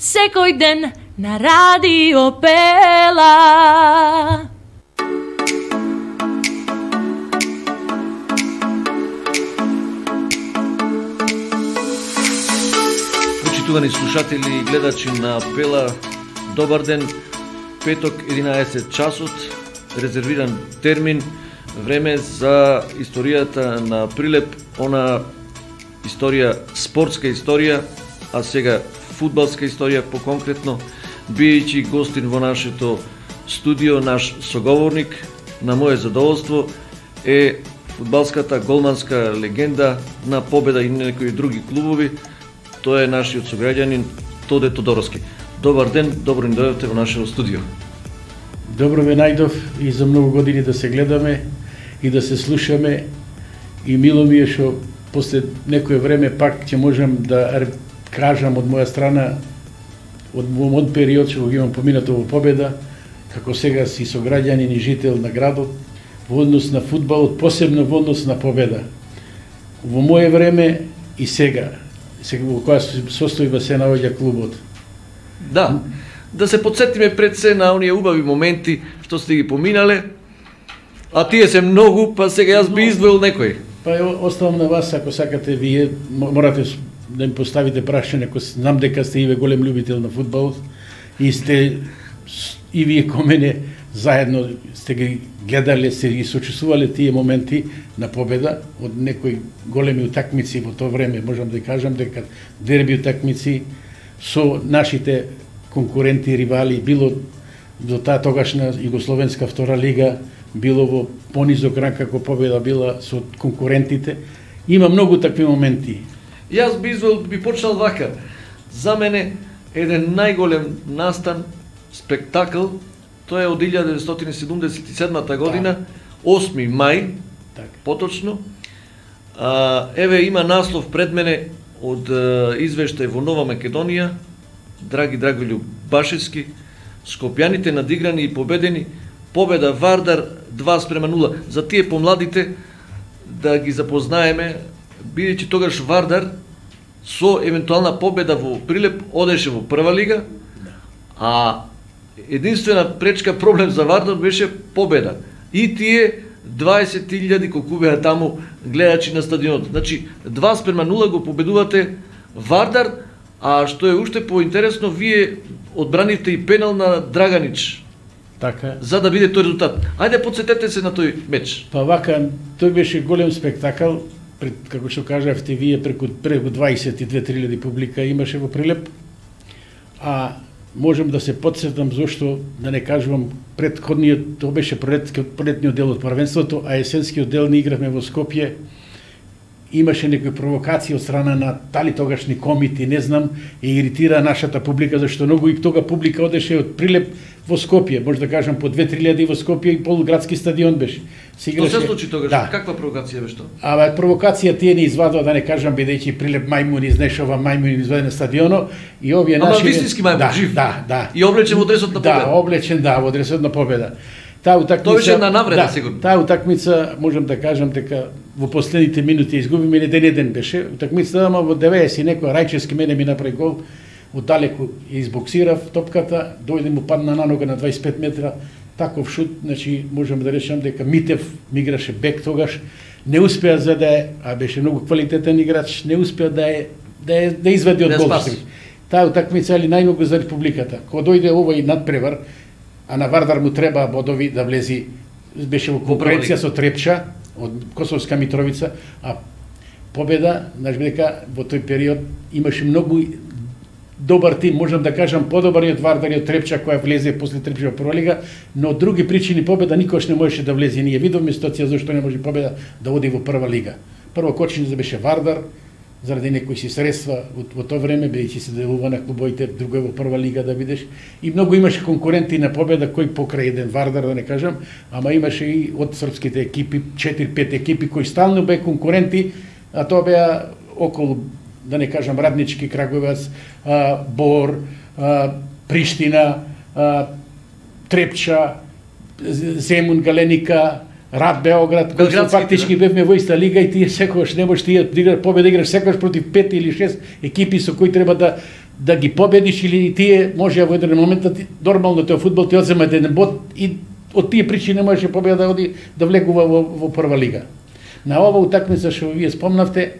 секој ден на радио Пела. Почитувани слушатели и гледачи на Пела, добар ден. Петок 11 часот, резервиран термин, време за историјата на Прилеп, она историја, спортска историја, а сега фудбалска историја по-конкретно, бијќи гостин во нашето студио, наш соговорник, на моје задоволство е фудбалската голманска легенда на Победа и некои други клубови. Тој е нашиот сограѓанин Тоде Тодоровски. Добар ден, добро ни дојдовте во нашето студио. Добро ве најдов и за многу години да се гледаме и да се слушаме, и мило ми е што после некое време пак ќе можам да кажам од моја страна од мојот период што го имам поминато во Победа, како сега си сограѓанин и жител на градот, во однос на фудбалот, посебно во однос на Победа. Во моје време и сега во која состојба се наоѓа клубот. Да се подсетиме пред се на оние убави моменти што сте ги поминале, а тие се многу, па сега јас би издвоил некој. Па оставам на вас, ако сакате вие, морате да ми поставите прашање, ако знам дека сте и ве голем љубител на фудбалот и сте и вие ко мене заедно сте ги гледале, сте ги сочувствувале тие моменти на Победа од некои големи утакмици во тоа време, можам да кажам дека дерби утакмици со нашите конкуренти, ривали, било до таа тогашна Југословенска втора лига, било во понизок ранг како Победа била со конкурентите. Има многу такви моменти. Јас би почнал вака. За мене еден најголем настан, спектакл, тоа е од 1977 година, 8 мај, поточно. Еве има наслов пред мене од извештај во Нова Македонија, Драги Драголју Башевски, Скопјаните надиграни и победени, Победа Вардар 2:0. За тие помладите да ги запознаеме, бидејќи тогаш Вардар со евентуална победа во Прилеп одеше во прва лига, а единствена пречка проблем за Вардар беше победа. И тие 20.000 колку беа таму гледачи на стадионот. Значи 2:0 го победувате Вардар, а што е уште поинтересно, вие одбранивте и пенал на Драганич. Така. За да биде тој резултат. Ајде подсетете се на тој меч. Па вака, тој беше голем спектакл, како што кажавте вие, преку 22.000 публика имаше во Прилеп. А можам да се подсетам зошто, да не кажувам, предходниот, тоа беше пролетниот дел од првенството, а есенскиот дел не игравме во Скопје. Имаше некои провокации од страна на дали тогашни комити, не знам, и иритира нашата публика, зашто многу и тога публика одеше од Прилеп во Скопје, може да кажам по 2-3 во Скопје и полуградски стадион беше. Што се случи тогаш? Да. Каква провокација беше тоа? Провокација тие не извадува, да не кажам, бидејќи Прилеп мајмуни изнешува мајмуни изваде на стадионот и овие наши... Ама вистински мајмун, жив? Да. И облечен во дресот на Победа? Да, облечен, во дресот на Победа. Тоа беше една навреда, сигурно. Таа утакмица, можам да кажам дека во последните минути изгубиме, еден беше. Утакмицата, ама во 90 некој Рајчевски мене ми направи гол, оддалеку избоксирав топката, дојде му падна на нога на 25 метра, таков шут, значи можам да речам дека Митев ми играше бек тогаш, не успеа за да беше многу квалитетен играч, не успеа да извади од гол. Таа утакмица е најмногу за републиката. Кога дојде овој надпревар, а на Вардар му треба бодови да влези, беше во конкуренција со Трепча од Косовска Митровица, а Победа, знаеш дека во тој период имаше многу добар тим, можам да кажам подобар и од Вардар и од Трепча која влезе после Трепча во прва лига, но од други причини Победа никош не можеше да влезе. Ние видовме ситуација зашто не може Победа да оди во прва лига. Прво кочница беше Вардар, заради некои си средства во тоа време, бидејќи се делува на клубовите, друго е во прва лига да видиш. И многу имаше конкуренти на Победа, кој покрај еден Вардар, да не кажам, ама имаше и од српските екипи, 4-5 екипи кои стално беа конкуренти, а тоа беа околу, да не кажам, Раднички, Краговец, Бор, Приштина, Трепча, Земун, Галеника, Рад Београд, кои фактички бевме во иста лига и тие секогаш не можеш тие да Победа играш секогаш против 5 или 6 екипи со кои треба да ги победиш или тие може во еден момент нормално тоа фудбал ти одзема еден бод и од тие причини не можеше победа да оди да влегува во прва лига. На ова утакмица што вие спомнавте,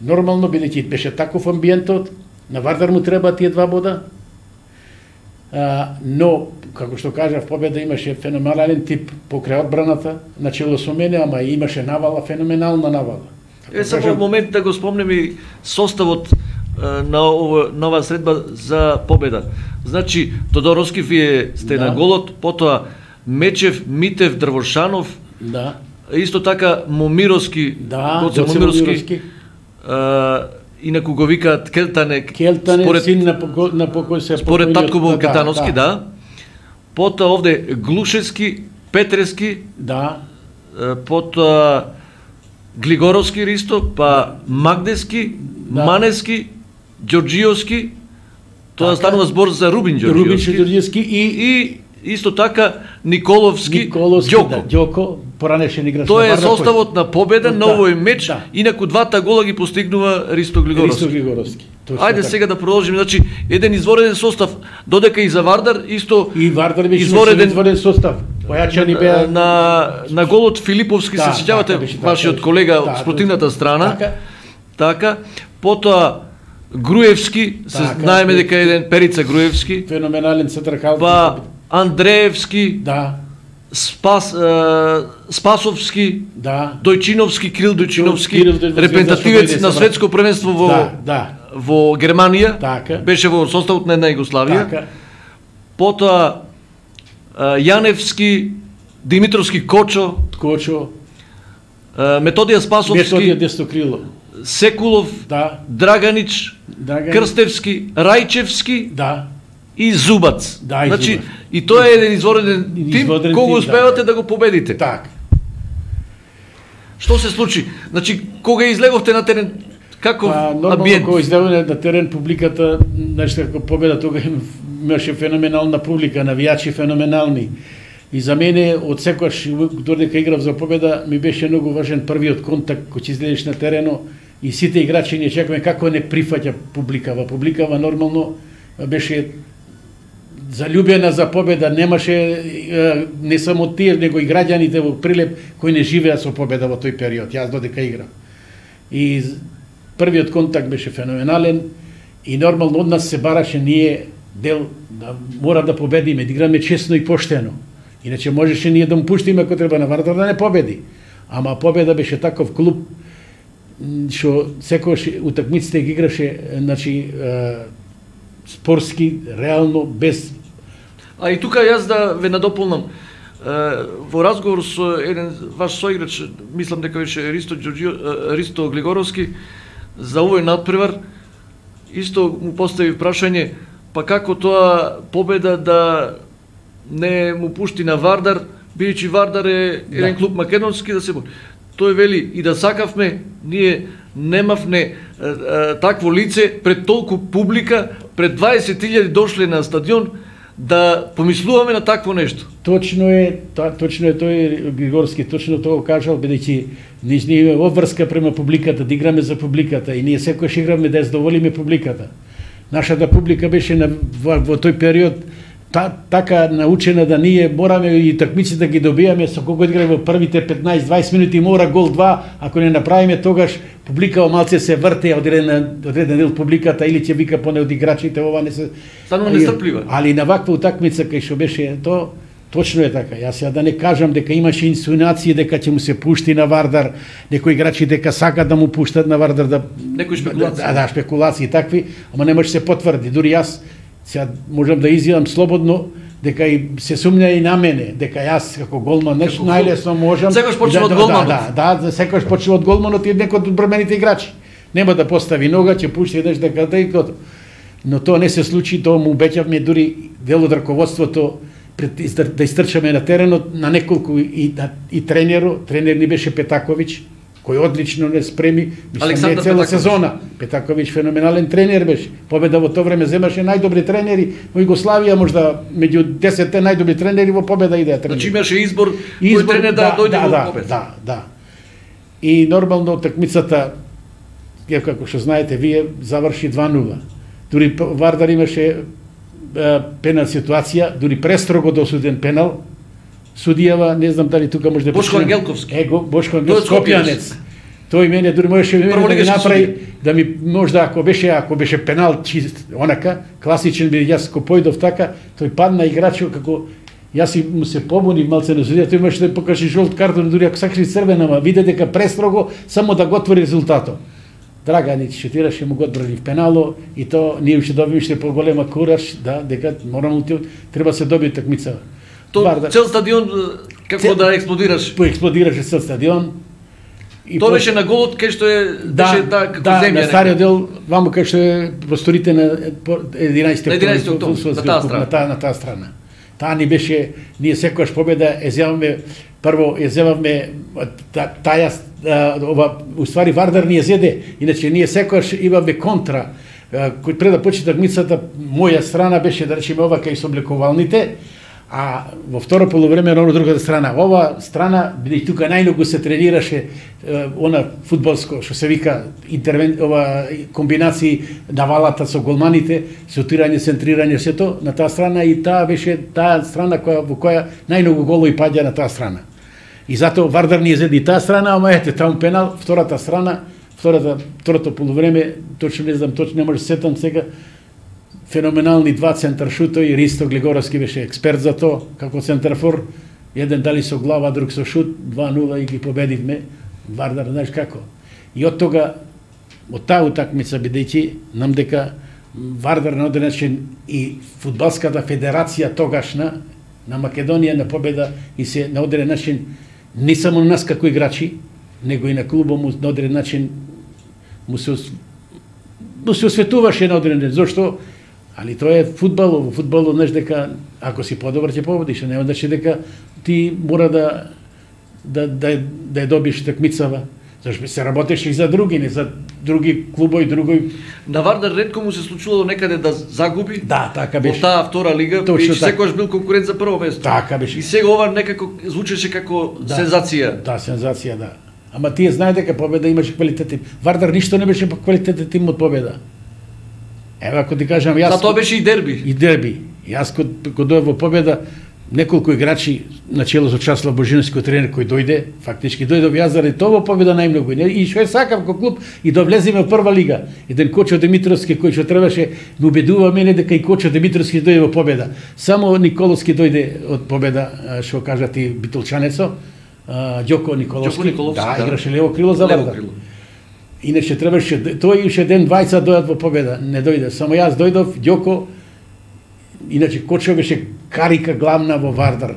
нормално бидејќи беше таков амбиентот, на Вардар му треба тие 2 бода. Но како што кажав, победа имаше феноменален тип покрај одбраната, начело со мене, ама имаше навала, феноменална навала. Само во момент да го спомнем и составот на оваа средба за победа. Значи, Тодоровски вие сте на голот, потоа Мечев, Митев, Дрвошанов, исто така Момировски, Гоце Момировски, инаку го викаат Келтане, според син на покој се според татко му Кетановски, Потоа овде Глушевски, Петрески, потоа Глигоровски Ристо, па Магдески, Манески, Ѓорџиевски, тоа станува збор за Рубин Ѓорџиевски и исто така Николовски, Ѓоко, поранешен играч. Тоа е составот на победа на овој меч, инаку 2 гола ги постигнува Ристо Глигоровски. Ајде сега да продолжиме, значи еден извореден состав, додека и за Вардар исто и Вардар беше извореден состав. Појачани беа на голот Филиповски, се сеќавате вашиот колега од спротивната страна. Така, потоа Груевски, се знаеме дека еден Перица Груевски, феноменален централ. Па Андреевски, Спасовски, Дојчиновски, Крил Дојчиновски, репрезентативец на светско првенство во Германија, беше во составот на една Југославија. Потоа Јаневски, Димитровски Кочо, Методија Спасовски, Секулов, Драганич, Крстевски, Рајчевски и Зубац. Значи, и тоа е еден извореден тим, кога успевате да го победите. Што се случи? Значи, кога излеговте на терен, каков амбиент? Нормално, кога излеговте на терен, публиката, значи, како победа, тога имаше феноменална публика, навијачи феноменални. И за мене, од секојаш, додека играв за победа, ми беше многу важен првиот контакт, кој ќе излезеш на терено и сите играчи не чекаме како не прифаќа публикава. Публикава нормално беше залюбена за победа, немаше не само тие, него и граѓаните во Прилеп кои не живеа со победа во тој период, јас додека играм. И првиот контакт беше феноменален и нормално од нас се бараше ние дел да мора да победиме, да играме честно и поштено. Иначе можеше ние да му пуштиме ако треба на Вардар да не победи. Ама победа беше таков клуб што секојаш утакмиците ги играше, значи спортски, реално, без... А и тука јас да ве надополнам. Во разговор со еден ваш соиграч, мислам дека беше Ристо Глигоровски, за овој надпревар, исто му постави прашање, па како тоа победа да не му пушти на Вардар, бидејќи Вардар е еден клуб македонски, да се... Тој вели, и да сакавме, ние немавме такво лице пред толку публика, пред 20.000 дошле на стадион, да помислуваме на такво нешто. Точно е тој Григорски, точно тоа кажал, бидејќи ние имаме обврска према публиката, да играме за публиката и ние секојаш играме да ја задоволиме публиката. Нашата публика беше во тој период така научена да ние мораме и такмиците да ги добијаме со кого играме во првите 15-20 минути мора гол 2, ако не направиме тогаш публика малце се врте одреден дел публиката или ќе вика поне од играчите ова не се станува нестрплива. Али на ваква утакмица кај што беше то точно е така. Јас да не кажам дека имаше инсинуации дека ќе му се пушти на Вардар, некои играчи дека сакаат да му пуштат на Вардар некои шпекулации. Шпекулации такви, ама не може се потврди. Дури јас сега можам да изјавам слободно дека и се сумња и на мене, дека јас како голман најлесно можам. Секојаш почнува од голманот. Секојаш почнува од голманот и некој од одбрамените играчи. Нема да постави нога, ќе пушти еднаш дека да и готово. Но тоа не се случи, тоа му обеќавме дури дел од раководството да истрчаме на теренот на неколку и тренер ни беше Петаковиќ, кој одлично не спреми, мислам не цела сезона. Петаковиќ феноменален тренер беше. Победа во тоа време земаше најдобри тренери во Југославија, можда меѓу 10 најдобри тренери во победа идеа тренери. Значи имаше избор кој тренер да дојде во победа. Да. И нормално такмицата, како што знаете вие, заврши 2-0. дури Вардар имаше пенал ситуација, дури престрого досуден пенал. Судијава, не знам дали тука може да Бошко Ангелковски. Бошко Ангелковски, Скопјанец. Тој мене дури можеше да ми направи да ми можда ако беше пенал чист онака класичен би јас ко појдов така, тој падна играчот како јас и му се побунив малце на судија, тој имаше да покаже жолт картон дури ако сакаше црвена, ама виде дека престрого само да го отвори резултатот. Драганич шутираше, му го одбрани в пенало и то ние уште добивме поголема кураж дека морално треба се доби такмица. Цел стадион како да експлодираш. Експлодираше цел стадион. Тоа беше на голот кај што беше како земја. На стариот дел, ваму кај што е просторите на 11 октомври на таа страна. Таа ни беше, ние секогаш победа прво зевавме таја ова уствари Вардар ни зеде, иначе ние секогаш имаме контра. Кој пред да почне такмицата, моја страна беше да речеме ова кај соблекувалните, а во второ полувреме на другата страна. Ова страна, бидејќи тука најмногу се тренираше она фудбалско, што се вика ова комбинации навалата со голманите, сутирање, центрирање, сето на таа страна и таа беше таа страна во која најмногу голови паѓа на таа страна. И затоа Вардар ни зеди таа страна, ама ете таму пенал, втората страна, второто полувреме, точно не знам, точно не може сетам сега. Феноменални два центаршутови, Ристо Глигоровски беше експерт за тоа, како центарфор, еден дали со глава, друг со шут, 2-0 и ги победивме, Вардар, знаеш како. И од тога, од таа утакмица, бидејќи, нам дека Вардар на одреден начин и фудбалската федерација тогашна, на Македонија на победа и се на одреден начин, не само на нас како играчи, него и на клубот му на одреден начин му се осветуваше на одреден начин, зашто али тоа е фудбал, во фудбалот знаеш дека ако си подобар ќе победиш, нема значи дека ти мора да ја добиеш такмицава. Зашто се работеше и за други, не за други клубови, други. На Вардар ретко му се случувало некаде да загуби. Да, така беше. Во таа втора лига, и секогаш бил конкурент за прво место. Така беше. И сега ова некако звучеше како сензација. Да, сензација, да. Ама тие знае дека победа имаше квалитетен. Вардар ништо не беше квалитетен тим од победа. Ева, ако ти кажам, јас... Затоа беше и дерби. И дерби. Јас кога дојдов во победа, неколку играчи начело со Часлав Божиновски тренер кој дојде, фактички дојдов јас заради тоа во победа најмногу. И што е сакав како клуб и да влеземе во прва лига. Еден Кочо Димитровски кој што требаше ме убедува мене дека и Кочо Димитровски дојде во победа. Само Николовски дојде од победа, што кажа ти битолчанецо, Ѓоко Николовски. Да, играше лево крило за Вардар. Иначе требаше тој уште ден двајца дојдат во победа, не дојде. Само јас дојдов, Ѓоко. Иначе Кочо беше карика главна во Вардар.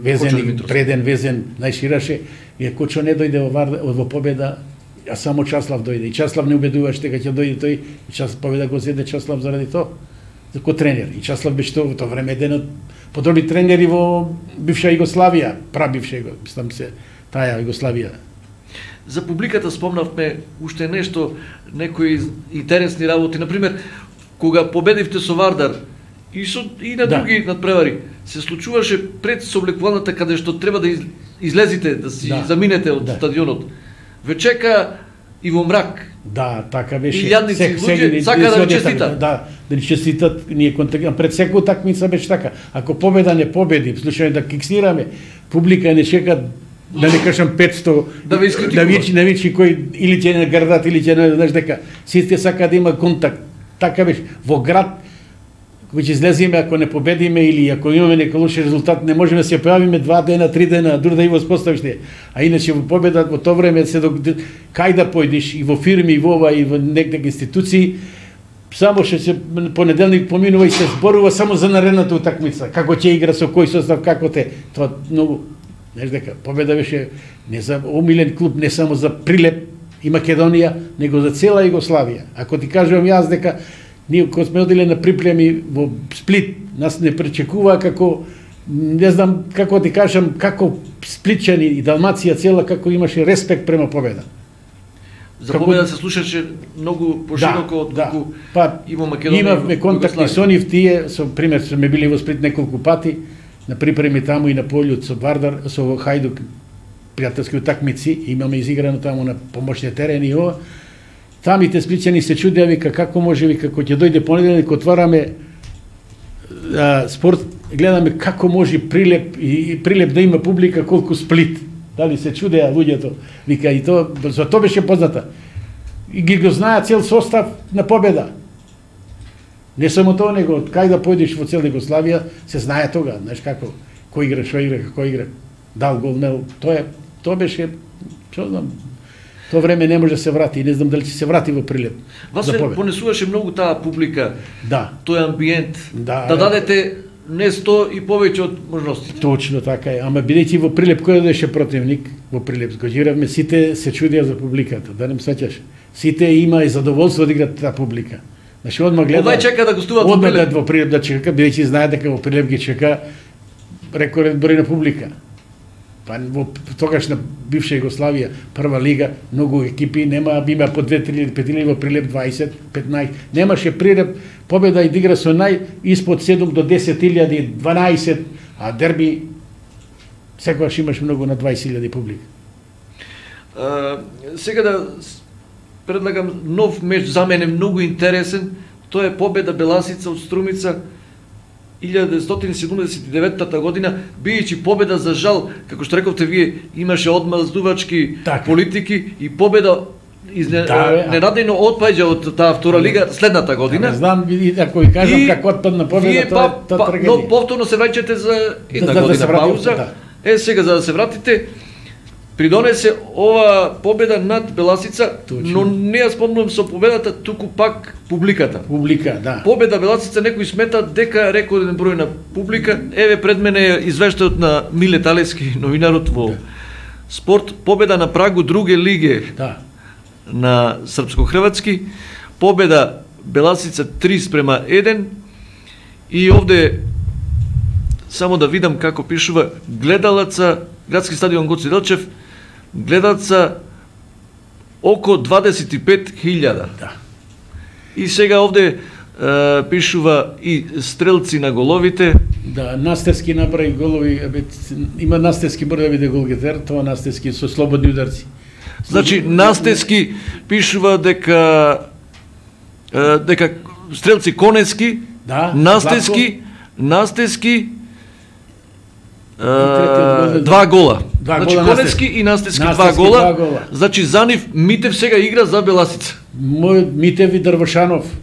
Везен, преден, везен, најшираше. И Кочо не дојде во победа, а само Часлав дојде. И Часлав не убедуваше дека ќе дојде тој. И победа го зеде Часлав заради тоа. Како тренер. И Часлав беше во тоа време еден од подобри тренери во бивша Југославија, прабивша таа Југославија. За публиката спомнавме уште нешто, некои интересни работи. Например, кога победивте со Вардар и на други надпревари, се случуваше пред соблекувалната каде што треба да излезите, да си заминете од стадионот. Ве чека и во мрак. Да, така беше. И јадници луѓе сака да ви честитат. Да ни честитат, ние контактираме. Пред секоја такмица беше така. Ако победа не победи, случајно да киксираме, публика не чека да не кажам 500 да ви искритикува. Да вичи кој или ќе не градат или ќе не, знаеш дека сите сака да има контакт. Така беше во град кој ќе излеземе ако не победиме или ако имаме некој лош резултат, не можеме да се појавиме 2 дена, 3 дена, дури да и воспоставиш не. А иначе во победа во тоа време се кај да појдеш и во фирми и во ова и во некои институции, само што се понеделник поминува и се зборува само за наредната утакмица, како ќе игра со кој состав, како те. Тоа многу, знаеш дека победа беше не за омилен клуб, не само за Прилеп и Македонија, него за цела Југославија. Ако ти кажувам јас дека ние кога сме одиле на приплеми во Сплит, нас не пречекува како, не знам како ти кажам, како сплитчани и Далмација цела, како имаше респект према победа. За победа се слушаше многу пошироко од колку и во Македонија. Имавме контакти со нив тие, со пример сме били во Сплит неколку пати, на припреми таму и на полјот со Вардар, со Хајдук, пријателски утакмици, имаме изиграно таму на помошни терени и ова. Самите сплитчани се чудеа, вика, како може, вика, кога ќе дојде понеделник, отвараме спорт, гледаме како може Прилеп и Прилеп да има публика колку Сплит. Дали се чудеа луѓето, вика, и то, за тоа беше позната. И ги го знаат цел состав на победа. Не само тоа, него од кај да појдеш во цел Југославија, се знае тога, знаеш како, кој игра, што игра, како игра, дал гол, мел, тоа беше, што знам, тоа време не може да се врати, и не знам дали ќе се врати во Прилеп. Вас се понесуваше многу таа публика, да, тој амбиент, да дадете не 100 и повеќе од можностите. Точно така е, ама бидејќи во Прилеп кој беше противник, во Прилеп сгоѓиравме, сите се чудеа за публиката, да не сваќаш. Сите има и задоволство да играат таа публика. Значи одма гледа. Овај чека да гостуваат во Прилеп. Во Прилеп да чека, бидејќи знае дека во Прилеп ги чека рекорден број на публика. Па во тогашна бивша Југославија, прва лига, многу екипи нема, има по 2-3 5 во Прилеп 20, 15. Немаше Прилеп победа и да игра со испод 7 до 10.000, 12, а дерби секогаш имаш многу на 20.000 публика. Сега да предлагам нов меч, за мене многу интересен, тоа е победа Беласица од Струмица 1979 година, бијќи победа, за жал, како што рековте вие, имаше одмаздувачки политики и победа ненадејно отпаѓа од таа втора лига следната година. Не знам, ако ви кажам како отпадна победа, тоа трагедија. Но повторно се враќате за една година пауза. Сега за да се вратите, придонесе ова победа над Беласица, но не ја спомнувам со победата, туку пак публиката. Публика, да. Победа Беласица, некои сметат дека рекорден број на публика. Еве пред мене е извештајот на Миле Талевски, новинарот во Спорт. Победа на прагу друге лиге на српско-хрватски. Победа Беласица 3:1. И овде само да видам како пишува гледалаца, градски стадион Гоце Делчев, гледалаца око 25.000. Да. И сега овде пишува и стрелци на головите. Да, Настевски направи голови, има Настевски мора да биде голгетер, тоа Настевски со слободни ударци. Значи Настевски пишува дека стрелци Конески, да, Настевски 2 гола. Значи Конески и Настевски 2 гола. Значи за нив Митев сега игра за Беласица. Митев и Дрвошанов.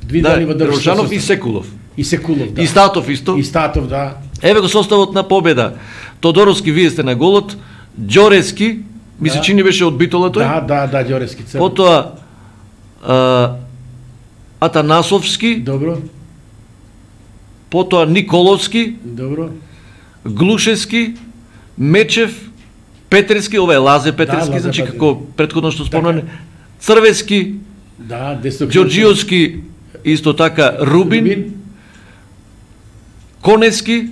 Дрвошанов и Секулов. И Секулов, да. И Статов исто. И Статов, да. Еве го составот на победа. Тодоровски, вие сте на голот. Ѓорески, ми се чини беше од Битола тој. Да, Ѓорески. Потоа Атанасовски. Добро. Потоа Николовски. Добро. Глушевски, Мечев, Петрески, ова е Лазе Петрески, значи како претходно што спомнане, Црвески, Ѓорџиовски, исто така Рубин, Конески,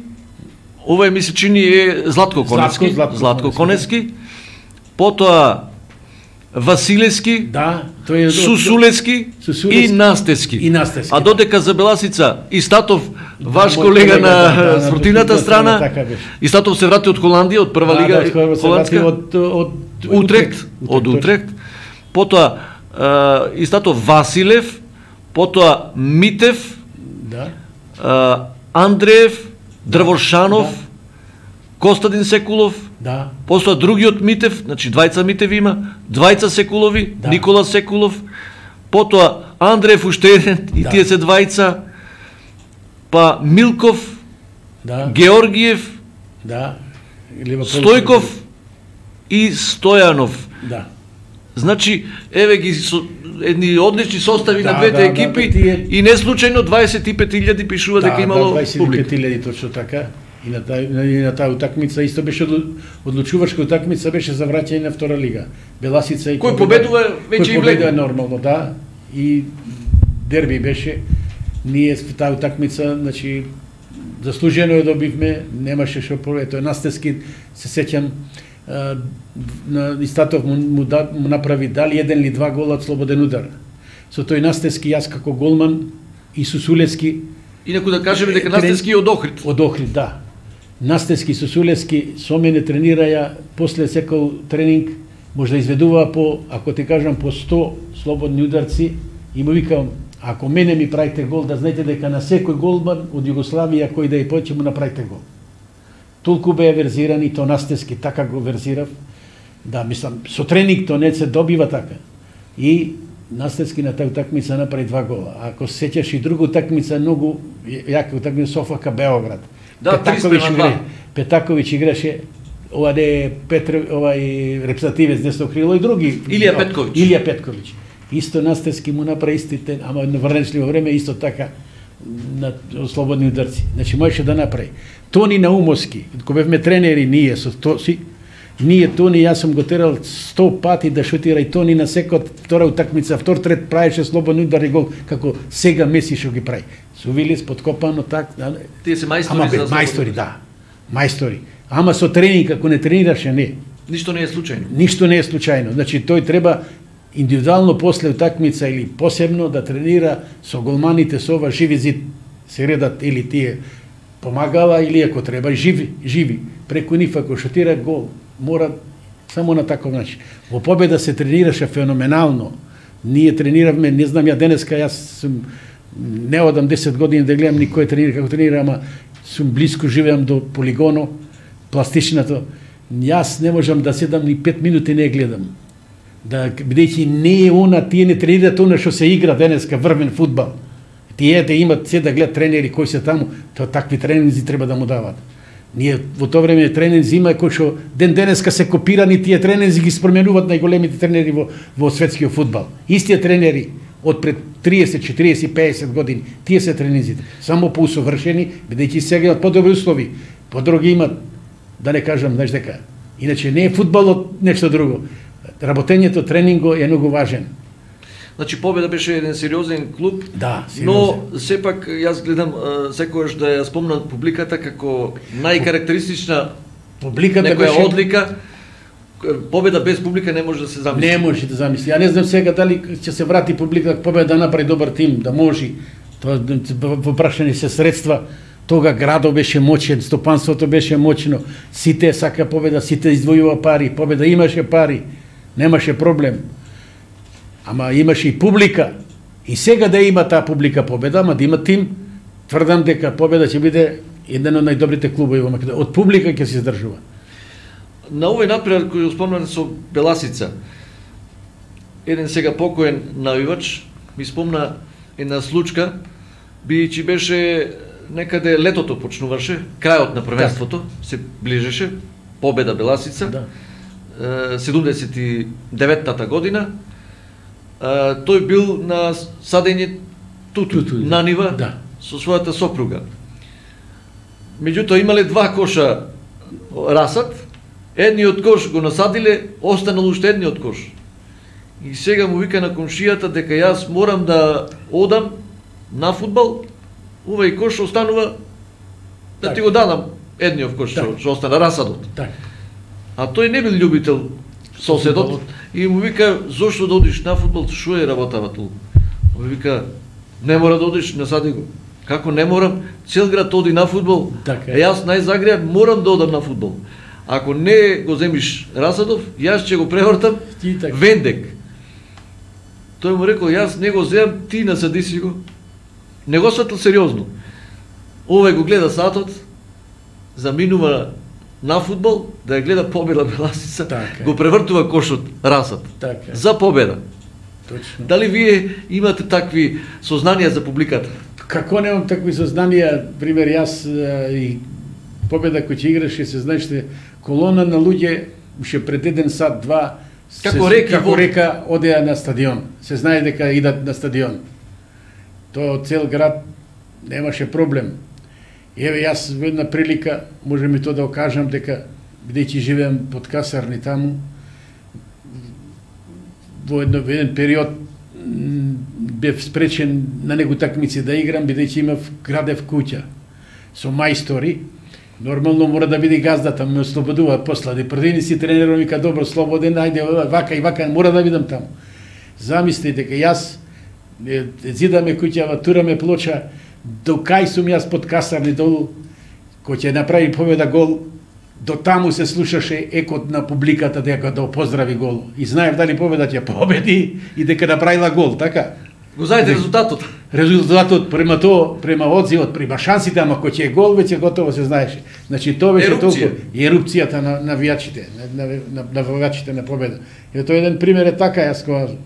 ова ми се чини е Златко Конески, Златко Конески, потоа Василевски, Сусулевски и Настевски. А додека за Беласица Истатов, ваш колега на спортивната страна, Истатов се врати од Холандија, од прва лига холандска, од Утрехт. Потоа Истатов Василев, потоа Митев, Андреев, Дрвошанов, Костадин Секулов, после другиот Митев, значи двајца Митеви има, двајца Секулови, Никола Секулов, потоа Андреев уште еден и тие се двајца, па Милков, Георгиев, Стојков и Стојанов. Значи, еве ги едни одлични состави на двете екипи и не случајно 25.000 пишува дека имало публика. 25.000 точно така. И на таа утакмица исто беше одлучувачка утакмица, беше за враќање на втора лига. Беласица и кој победува веќе и влезе нормално, да. И дерби беше. Ние таа утакмица, значи заслужено ја добивме, немаше што повеќе. Настевски се сеќам на Истатов му направи дали еден или два гола од слободен удар. Со тој Настевски јас како голман и Сусулевски. Инаку да кажеме дека Настевски од Охрид. Од Охрид, да. Настевски, Сусулевски со мене тренираја, после секој тренинг може да изведува по, ако ти кажам, по 100 слободни ударци и му викам, ако мене ми правите гол, да знаете дека на секој голман од Југославија кој да и почне му направите гол. Толку беа верзирани, то настески така го верзирав, да, мислам, со тренинг то не се добива така. И настески на таа утакмица направи 2 гола. Ако се сеќаш и друга утакмица, многу јака утакмица Софака Београд. Да, Петаковиќ играше, ова не овај репрезентативец десно крило и други. Илија Петковиќ. Исто настески му направи истите, ама на врнечливо време исто така на слободни ударци. Значи можеше да направи. Тони Наумовски, кога бевме тренери ние со Тоси, ние Тони, јас сум го терал 100 пати да шутира и Тони на секој втора утакмица, втор трет правеше слободни удари гол како сега Меси што ги прави. Со Вилис подкопано так. Тие се мајстори за мајстори, да. Мајстори. Ама со тренинг ако не тренираше не. Ништо не е случајно. Ништо не е случајно. Значи тој треба индивидуално после утакмица или посебно да тренира со голманите, со ова живи зид се редат или тие помагала или ако треба живи. Преку нив ако шутира гол, мора само на таков начин. Во победа се тренираше феноменално. Ние трениравме, не знам ја денеска, јас сум не одам 10 години да гледам никој тренира како тренира, ама сум близко живеам до полигоно, пластичното. Јас не можам да седам ни 5 минути не гледам. Да бидејќи не е она, тие не тренираат она што се игра денеска врвен фудбал. Тие да имат се да гледат тренери кои се таму, тоа такви тренинзи треба да му дават. Ние во тоа време тренинзи има кои што ден денеска се копирани тие тренинзи ги спременуваат најголемите тренери во светскиот фудбал. Истите тренери од пред 30, 40, 50 години, тие се тренинзите. Само поусовршени, бидејќи сега имат подобри услови, подруги имат, да не кажам, знаеш дека. Иначе не е фудбалот нешто друго. Работењето, тренинго е многу важен. Значи Победа беше еден сериозен клуб, да, но сепак јас гледам секогаш да ја спомнам публиката како најкарактеристична публиката некоја беше одлика. Победа без публика не може да се замисли. Не може да замисли. Ја не знам сега дали ќе се врати публика Победа да направи добар тим, да може. Тоа во прашање се средства. Тога градот беше моćен, стопанството беше моćно, сите сака Победа, сите издвојува пари, Победа имаше пари, немаше проблем. Ама имаше и публика. И сега да има таа публика Победа, ама да има тим, тврдам дека Победа ќе биде еден од најдобрите клубови во Македонија. Од публика ќе се издржува. На овој напред кој спомнам со Беласица, еден сега покоен навивач ми спомна една случка, бидејќи беше некаде летото почнуваше, крајот на првенството, се ближеше, Победа Беласица, 79-та година. Тој бил на садење туту на нива со својата сопруга. Меѓутоа имале 2 коша расад, едниот кош го насадиле, останал уште едниот кош. И сега му вика на комшијата дека јас морам да одам на фудбал, овај кош останува да ти го дадам едниот кош што остана расадот. А тој не бил љубител соседот и му вика зошто да одиш на фудбал, што е работава толку? Му вика не мора да одиш, насади го. Како не морам? Цел град оди на фудбал. Јас најзагреа морам да одам на фудбал. Ако не го земиш расадов, јас ќе го превртам вендек. Тој му рекол, јас не го земам, ти насади си го. Не го сватил сериозно. Овој го гледа сатот, заминува на фудбал, да ја гледа Победа Беласица, го превртува кошот расад. За Победа. Точно. Дали вие имате такви сознанија за публиката? Како немам такви сознанија, пример јас и Победа кој ќе играше, се знаеше колона на луѓе уште пред 1 сат, 2 како река одеа на стадион. Се знае дека идат на стадион. Тоа цел град немаше проблем. Еве јас во една прилика можем и тоа да окажам дека бидејќи живеам под касарни таму, во еден период бев спречен на него такмици да играм бидејќи имав градев куќа со мајстори. Нормално мора да биде газдата, ме ослободува после. Првини си тренерот вика добро, слободен, ајде вака и вака, мора да видам таму. Замисли дека јас зидаме куќава, тураме плоча, до кај сум јас под касарни долу, кој ќе направи Победа гол, до таму се слушаше екот на публиката дека да поздрави гол. И знаев дали победа ќе победи и дека направила гол, така? Го знаете резултатот? Резултатот према одзивот, према шансите, ама кој ќе е гол веќе готово се знаеше. Значи тоа беше толку ерупцијата на навијачите, на навијачите на победа. И тоа еден пример е така, јас кажам.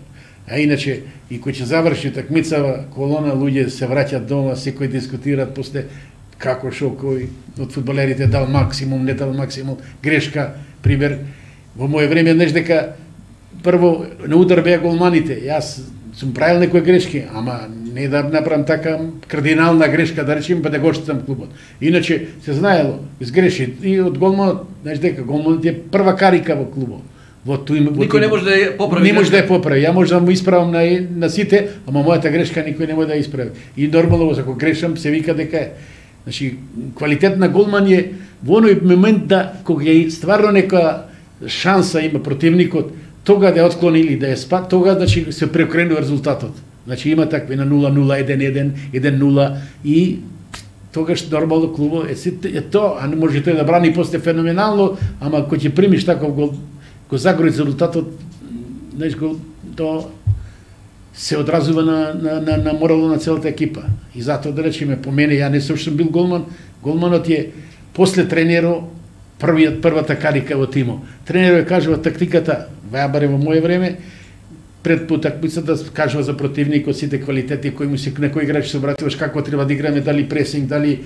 А иначе и кој ќе заврши такмицава, колона луѓе се враќаат дома, секој дискутираат после како шо кој од фудбалерите дал максимум, не дал максимум, грешка, пример. Во моје време знаеш дека прво на удар беа голманите. Јас сум правил некои грешки, ама не да направам така кардинална грешка, да речем, па да го штитам клубот. Иначе се знаело, изгреши и од голманот, знаеш дека голманот е прва карика во клубот. Никој не може да ја поправи. Не може да ја поправи. Ја може да му исправам на сите, ама мојата грешка никој не може да ја исправи. И нормално ако грешам се вика дека е. Значи квалитет на голман е во оној момент да кога е стварно нека шанса има противникот, тога да ја отклони или да ја спа, тога значи се преокренува резултатот. Значи има такви на 0-0, 1-1, 1-0 и тогаш нормално клубот е тоа, а не може тој да брани после феноменално, ама кој ќе примиш таков гол, го загори резултатот, знаеш, тоа се одразува на морало на целата екипа. И затоа да речеме, по мене, ја не сум бил голман, голманот е после тренеро првата карика во тимот. Тренерот кажува тактиката, барем во моје време, пред потакмицата кажува за противникот сите квалитети кои му се на кој играч се обратуваш, како треба да играме, дали пресинг, дали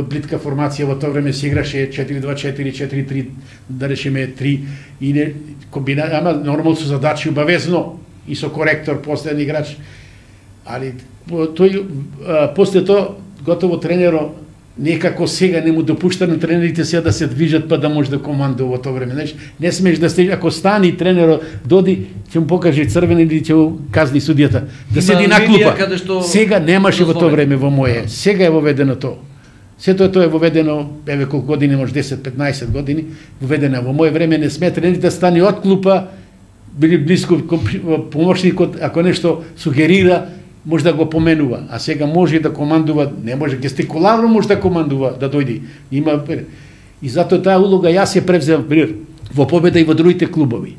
плитка формација, во тоа време се играше 4-2-4, 4-3, да речеме 3 и не комбинација, ама нормално со задачи обавезно и со коректор последен играч. Али тој после тоа готово тренеро некако сега не му допушта на тренерите сега да се движат па да може да командува во тоа време. Знаеш, не смееш да стеш, ако стани тренерот доди, ќе му покаже црвен или ќе му казни судијата. Да седи на клупа. Сега немаше во тоа време во моје. Сега е воведено тоа. Сето тоа е воведено, еве колку години, може 10-15 години, воведено. Во моје време не смее тренерите да стани од клупа, били близко помошникот, ако нешто сугерира, може да го поменува, а сега може да командува, не може гестикуларно може да командува, да дојди. Има и затоа таа улога јас ја превземав во победа и во другите клубови.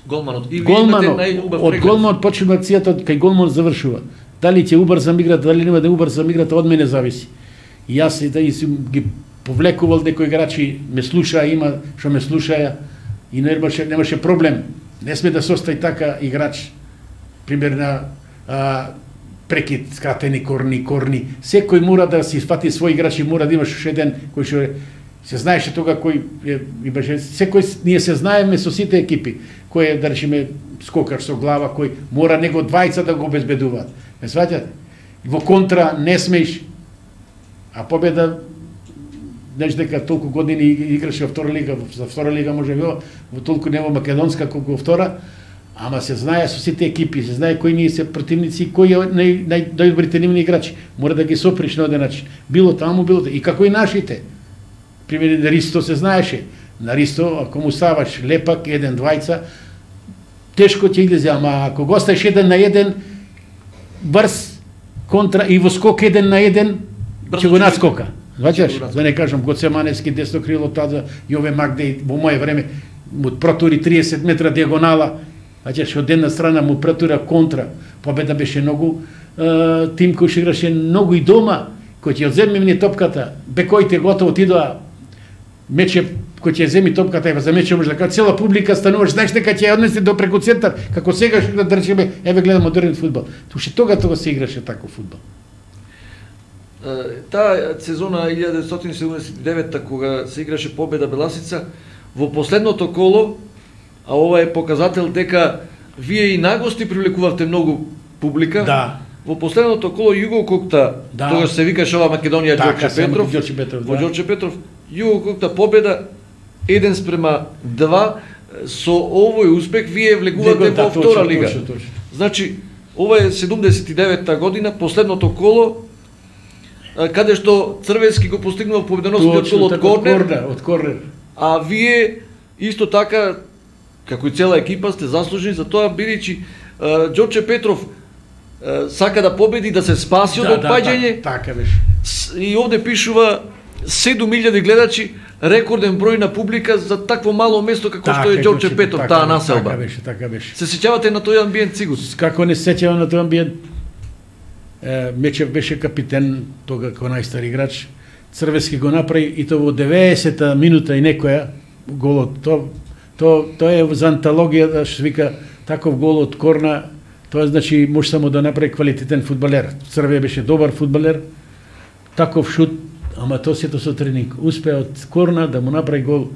Голманот. И голманот, од голманот почнува акцијата, кај голманот завршува. Дали ќе убрзам играта, дали нема да убрзам играта, од мене зависи. И јас ги повлекувал некои играчи, ме слушаа, има што ме слушаја и немаше проблем. Не сме да состои така играч, пример на прекид, скратени корни. Секој мора да си фати свој играч и мора да имаш уште еден кој што се знаеше тога кој имаше. Секој ние се знаеме со сите екипи, кој е да речеме скокар со глава, кој мора него двајца да го обезбедуваат. Ме сваќате? Во контра не смееш. А победа знаеш дека толку години играше во втора лига, за втора лига може би во толку не во македонска колку во втора. Ама се знае со сите екипи, се знае кои ние се противници и кои најдобрите нивни играчи. Мора да ги соприш на оден начин. Било таму, било таму. И како и нашите. Пример, на Ристо се знаеше. На Ристо, ако му ставаш лепак, 1-2, тешко ќе излезе, ама ако го оставиш 1-1, брз контра и во скок 1-1, ќе го надскока. Зваќаш? Да не кажам, Гоцеманевски, десно крило, тада, Јове Магдеј, во моје време, му протури 30 метра диагонала, од една страна му претура контра. Победа беше многу тим кој што играше многу и дома, кој ќе одземе мне топката, бекоите готово отидоа, мече кој ќе земи топката и за мече може да кажа цела публика стануваш, знаеш дека ќе ја однесе до преку центар, како сега што да речеме, еве гледам модерен фудбал. Туше тога се играше тако фудбал. Таа сезона 1979 кога се играше победа Беласица, во последното коло, а ова е показател дека вие и нагости привлекувавте многу публика. Да. Во последното коло Југококта, да. Тогаш се викаше ова Македонија Ѓорче Петров. Во Ѓорче Петров, Југококта победа 1:2. Со овој успех вие влегувате во втора лига. Точно. Значи, ова е 79-та година, последното коло, каде што Црвенски го постигнува победоносниот гол од корнер. А вие исто така, како и цела екипа, сте заслужени за тоа, бидејќи Ѓорче Петров сака да победи, да се спаси од отпаѓање. Така беше. И овде пишува 7000 гледачи, рекорден број на публика за такво мало место како што е Ѓорче Петов, таа населба. Така беше. Се сеќавате на тој амбиент сигурно? Како не се сеќавам на тој амбиент? Мечев беше капитен тога како најстар играч. Црвески го направи и тоа во 90-та минута и некоја голот. Тоа е за антологија, што вика таков гол од корна, тоа значи може само да направи квалитетен фудбалер. Црве беше добар фудбалер. Таков шут, ама тоа сето со тренинг. Успеа од корна да му направи гол.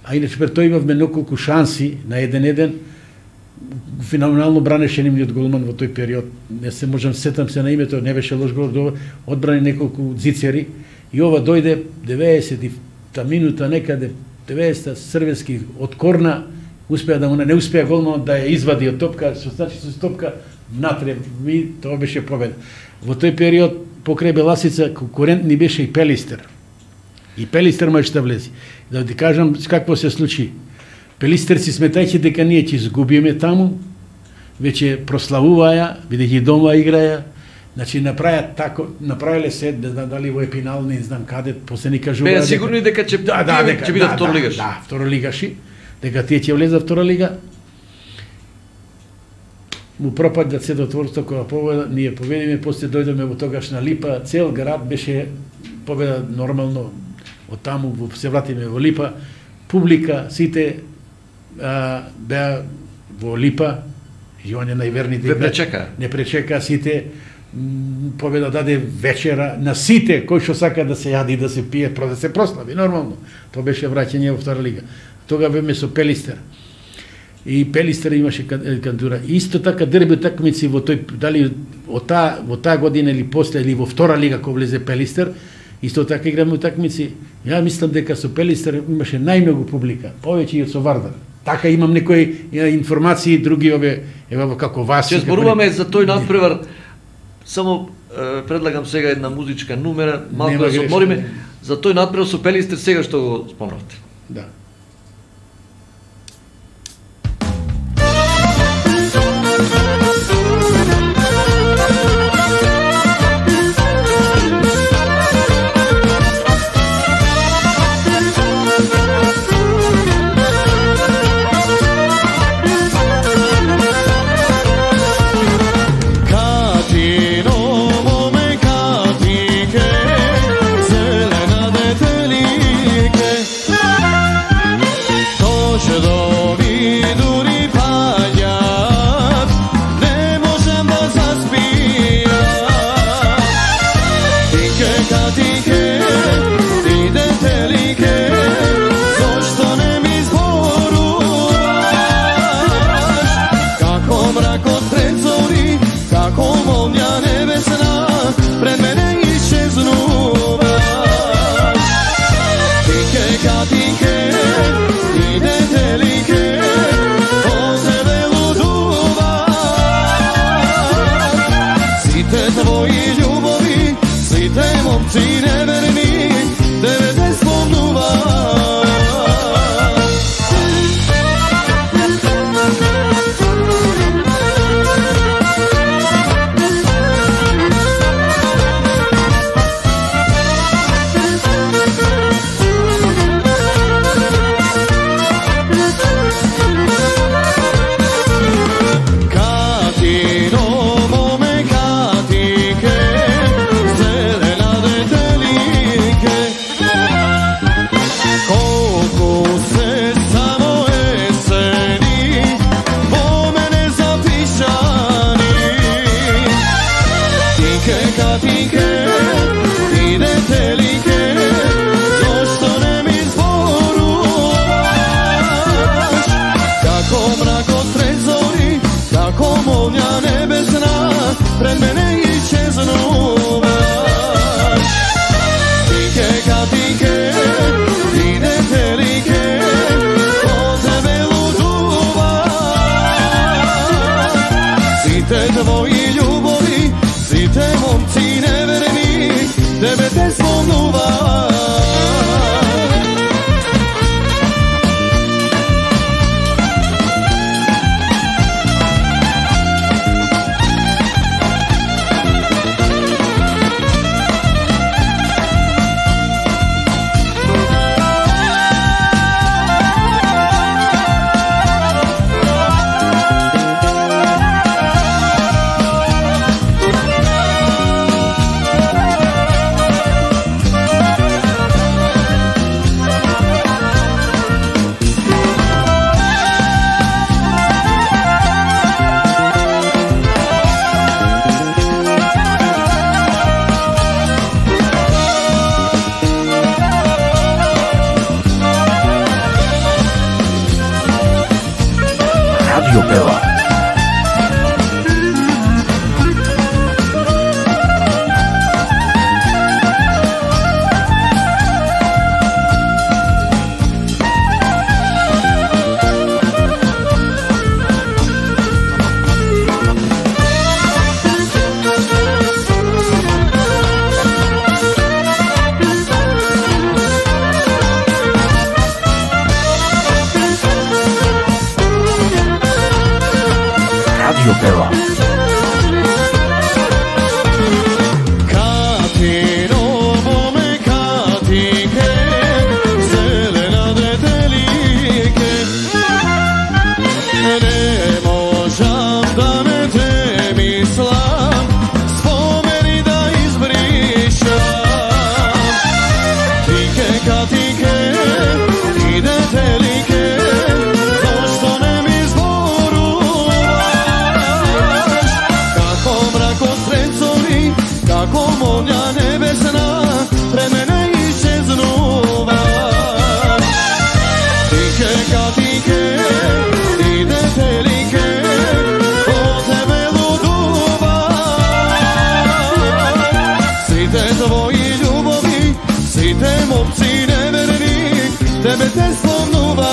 А иначе тој имавме неколку шанси на 1-1. Феноменално бранеше нивниот голман во тој период. Не се можам сетам се на името, не беше лош гол, одбрани неколку зицери. И ова дојде 90-та минута некаде, 90-та Црвенски од корна, успеа да му не успеа голманот да ја извади од топка, што значи со топка внатре, и тоа беше победа. Во тој период покрај Беласица конкурент ни беше и Пелистер. И Пелистер можеше да влезе. Да ти кажам какво се случи. Пелистерци сметајќи дека ние ќе изгубиме таму, веќе прославуваја, бидејќи дома играја, значи направиле се, не знам дали во Епинал, не знам каде, после ни кажуваат. Беа сигурни дека ќе бидат второлигаши. Да, второлигаши, дека тие ќе влезат втора лига. Му пропадат се до творство која победа, ние победиме, после дојдеме во тогашна Липа, цел град беше победа нормално, од таму се вратиме во Липа, публика, сите беа во Липа, и он е најверните. Не пречека сите, победа даде вечера на сите кои што сака да се јади, да се пие, да се прослави, нормално. Тоа беше враќање во втора лига. Тога беме со Пелистер. И Пелистер имаше кандидатура. Исто така дерби утакмици во тој, дали во таа година или после, или во втора лига кога влезе Пелистер, исто така играме утакмици. Ја мислам дека со Пелистер имаше најмногу публика, повеќе и од со Вардар. Така имам некои информации, други ева како вас. Ќе зборуваме за тој надпревар. Само предлагам сега една музичка numera, малку да се одмориме за тој надпревар со Пелистер сега што го спомнавте. Да. Tvoji ljubovi, svi te momci neverni тебе те сломнува.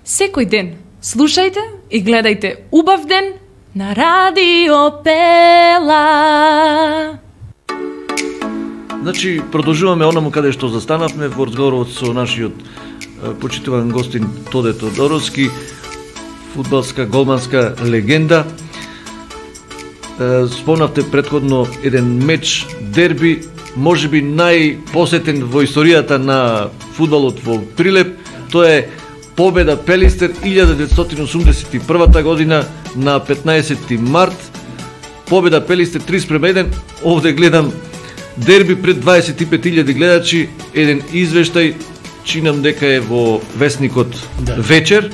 Секој ден слушајте и гледајте убав ден на Радио Пела. Значи, продолжуваме онаму каде што застанавме во разговорот со нашиот почитуван гостин Тоде Тодоровски, фудбалска голманска легенда. Спомнавте претходно еден меч, дерби, можеби најпосетен во историјата на фудбалот во Прилеп. Тоа е победа Пелистер 1981 година на 15 март. Победа Пелистер 3:1. Овде гледам дерби пред 25.000 гледачи, еден извештај, чинам дека е во весникот Вечер.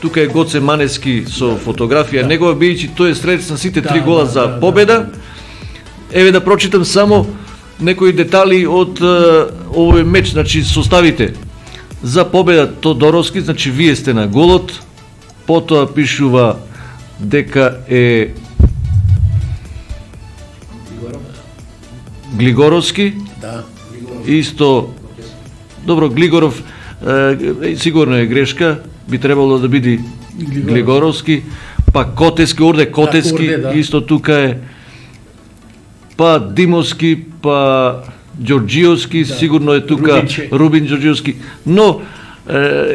Тука е Гоце Манески со фотографија негова, бидејќи тој е средец на сите три гола за победа. Еве да прочитам само некои детали од овој меч, значи составите. За победа Тодоровски, значи вие сте на голот, потоа пишува дека е Глигоровски, исто, добро, Глигоров, сигурно е грешка, би требало да биде Глигоровски, па Котески, Орде Котески, исто тука е, па Димовски, па Ѓорџиевски, сигурно е тука Рубин Ѓорџиевски, но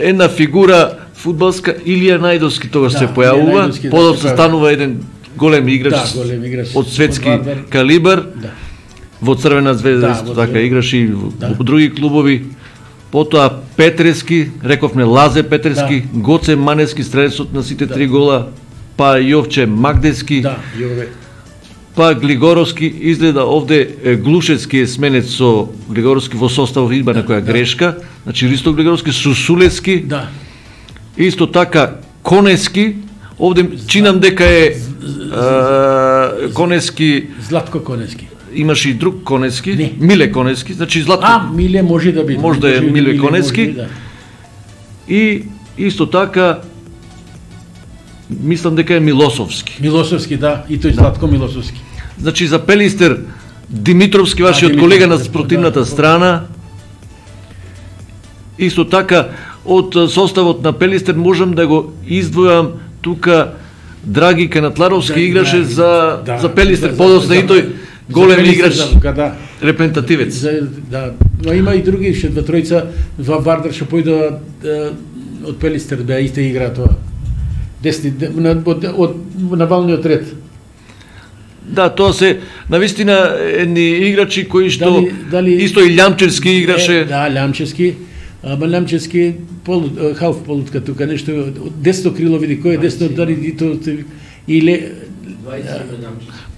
една фигура фудбалска, Илија Најдовски тогаш се појавува, подоцна станува еден голем играч од светски калибар, во Црвена звезда исто така играше и во други клубови. Потоа Петрески, рековме Лазе Петрески, Гоце Манески, стрелецот на сите три гола, па Јовче Магдески, па Глигоровски, изгледа овде Глушевски е сменет со Глигоровски во составот, има некоја грешка, значи Ристо Глигоровски, Сусулевски, исто така Конески, овде чинам дека е Конески, Златко Конески. Имаше и друг Конески, Миле Конески, значи Златко. Миле може да биде. Може да е Миле Конески. И исто така мислам дека е Милосовски. Милосовски, да, и тој Златко Милосовски. Значи за Пелистер Димитровски, вашиот колега на спротивната страна. Исто така од составот на Пелистер можам да го издвојам тука Драги Канатларовски играше за Пелистер, подоцна и тој голем играч, репрезентативец. Да, но има и други, ше два тројца во Вардар што појдоа од Пелистер да исто игра тоа. Десни од навалниот ред. Да, тоа се навистина едни играчи кои што исто и Лјамчевски играше. Да, Лјамчевски. Ама Лјамчевски халф полутка тука нешто десно крило, види кој е десно, дали и то или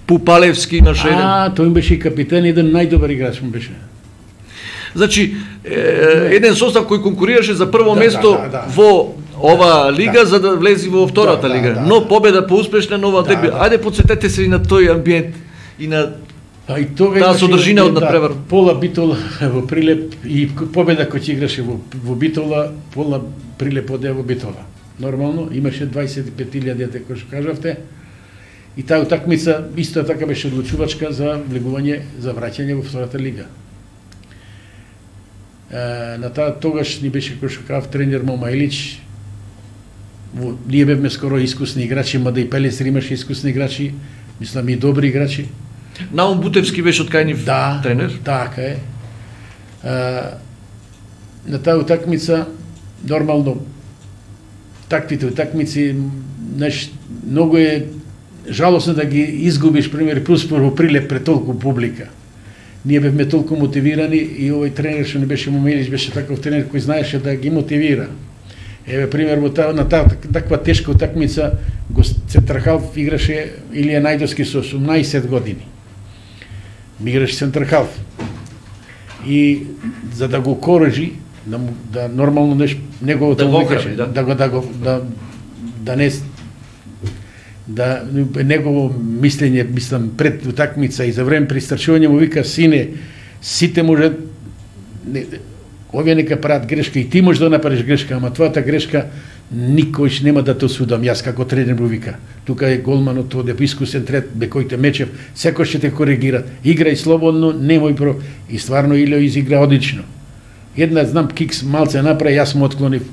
Пупалевски имаше еден. Тој беше и капитен, еден најдобар играч му беше. Значи, еден состав кој конкурираше за прво место во ова лига за да влези во втората лига. Но победа поуспешна нова дерби. Ајде подсетете се и на тој амбиент и на таа содржина од надпревар. Пола Битола во Прилеп и победа кој играше во Битола, Пола Прилеп оде во Битола. Нормално, имаше 25.000 кој што кажавте. И таа утакмица исто така беше одлучувачка за влегување, за враќање во втората лига. На тогаш ни беше кој што кажав тренер Мома Илич. Ние бевме скоро искусни играчи, мада и Пелистер имаше искусни играчи, мислам и добри играчи. Наум Бутевски беше од кајнив тренер? Така е. На таа утакмица, нормално, таквите утакмици, многу е жалосно да ги изгубиш, пример, во Прилеп пред толку публика. Ние бевме толку мотивирани и овој тренер што не беше Момелич, беше таков тренер кој знаеше да ги мотивира. Еве пример на таква тешка утакмица центрхалф играше Илија Најдовски со 18 години. Ми играше центрхалф. И за да го корежи, да нормално неговото да негово мислење, мислам, пред утакмица и за време пристрчување му вика: сине, сите може, овие нека прават грешка и ти може да направиш грешка, ама твојата грешка никош нема да те осудам, јас како тренер му вика. Тука е голманот, оде искусен трет, Бекојте Мечев, секој ќе те коригира. Играј слободно, немој про. И стварно Илио изигра одлично. Една знам кикс малце направи, јас му отклонив.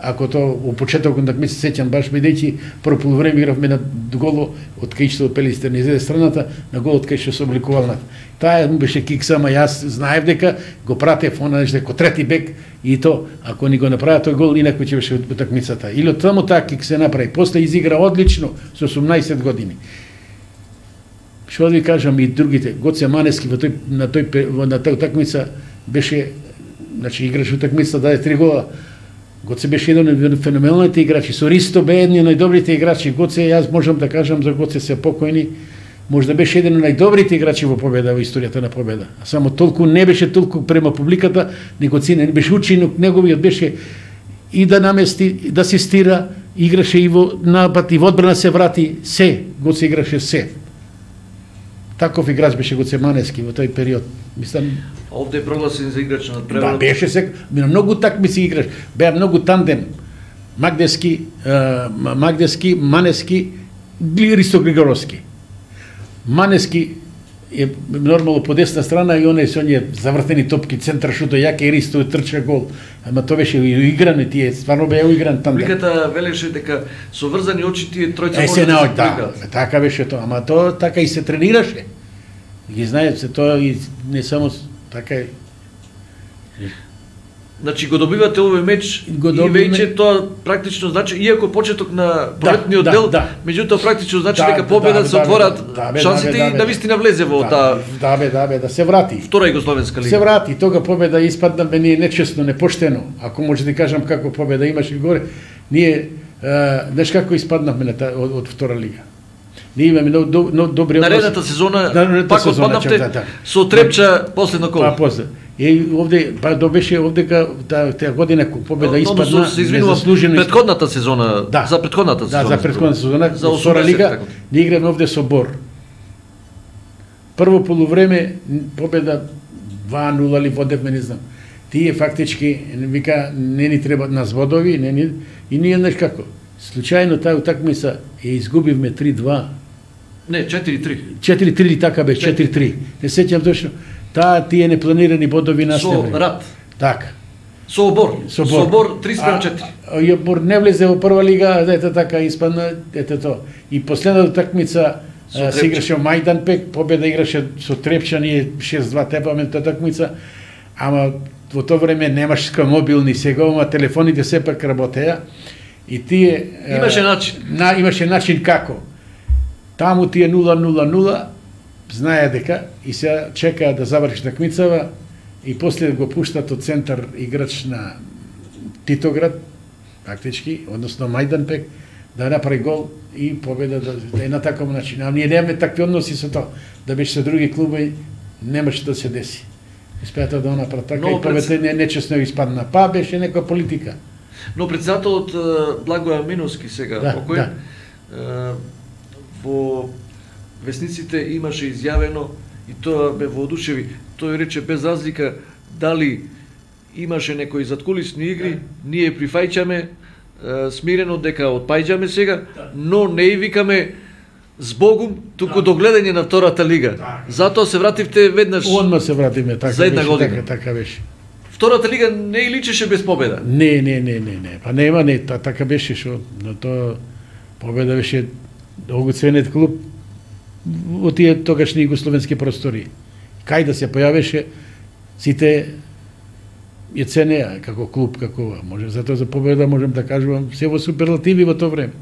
Ако то во почетокот так ми се сеќам баш бидејќи прво полувреме игравме на голо од кај што Пелистер не изеде страната, на голот кај што се обликувал. Таа му беше кикс, ама јас знаев дека го пратев она дека трети бек и то ако ни го направи тој гол инаку ќе беше утакмицата. Или таму таа кикс се направи. После изигра одлично со 18 години. Што да ви кажам и другите, Гоце Манески на тој утакмица беше, значи играше утакмица, даде 3 гола. Гоце беше еден од феноменалните играчи. Со Ристо бе еден од најдобрите играчи. Гоце, јас можам да кажам за Гоце се покојни, може да беше еден од најдобрите играчи во Победа, во историјата на Победа. А само толку не беше толку према публиката, него цене, беше учинок неговиот беше и да намести, да асистира, играше и во напад и во одбрана се врати, се, Гоце играше се. Таков играч беше Гоце Манески во тој период. Мислам, овде е прогласен за играч на надпреварот. Да, беше се, многу такмици играш. Беа многу тандем. Магдески, Манески, Ристо Григоровски. Манески е нормално по десна страна и оне со оние завртени топки, центар шуто, јаке и Ристо трча гол. Ама тоа беше игран и тие, стварно беа игран тандем. Публиката велеше дека со врзани очи тие тројца може да се да, така беше тоа, ама тоа така и се тренираше. Ги знаете се тоа и не само така е. Значи го добивате овој меч и веќе тоа практично значи иако почеток на пролетниот дел, меѓутоа практично значи дека победа се отворат шансите и да вистина влезе во таа да се врати. Втора југословенска лига. Се врати, тога победа испадна мене нечестно, непоштено. Ако може да кажам како победа имаше горе, ние знаеш како испаднавме од втора лига. Ние имаме добри односи. Наредната сезона пак отпаднавте со Трепча последно коло. Па после. И овде беше овдека таа година победа испадна незаслужено. Претходната сезона, за претходната сезона. Да, за претходната сезона, за втора лига, ние играме овде со Бор. Прво полувреме победа 2-0 или водевме, не знам. Тие фактички вика не ни требаат нас водови, и ние знаеш како. Случајно таа утакмица ја изгубивме 3-2. Не, 4-3. 4-3 така беше, 4-3. Не сеќам точно. Тие непланирани бодови настави. Со Рат. Така. Со Обор. Со Обор 3-4. Обор не влезе во прва лига, ете така испадна, ете тоа. И последната такмица се играше во Мајданпек, победа играше со Трепча, ние 6-2 тепаме таа такмица. Ама во тоа време немаше мобилни сега, ама телефоните сепак работеа. И тие имаше начин. Имаше начин како. Таму тие 0-0-0 знае дека и се чекаа да заврши такмицава и после го пуштат од центар играч на Титоград, практички, односно Мајданпек, да направи гол и победа да е на таков начин. А ние немаме такви односи со тоа. Да беше со други клуби, немаше да се деси. Испеата да направи така и победа нечесно испадна. Па беше некоја политика. Но председателот Благоја Миновски сега, покој, во весниците имаше изјавено и тоа ме воодушеви. Тој рече без разлика дали имаше некои заткулисни игри, ние прифаќаме смирено дека отпајџаме сега, но не и викаме збогум, туку до гледање на втората лига. Затоа се вративте веднаш. Одма се вратиме, така за една година. Така беше. Втората лига не и личеше без победа. Не. Па нема, така беше што, но тоа победа беше огуценет клуб во тие тогашни југословенски простори. Кај да се појавеше, сите ја ценеа како клуб, како може, затоа за победа можем да кажувам се во суперлативи во тоа време.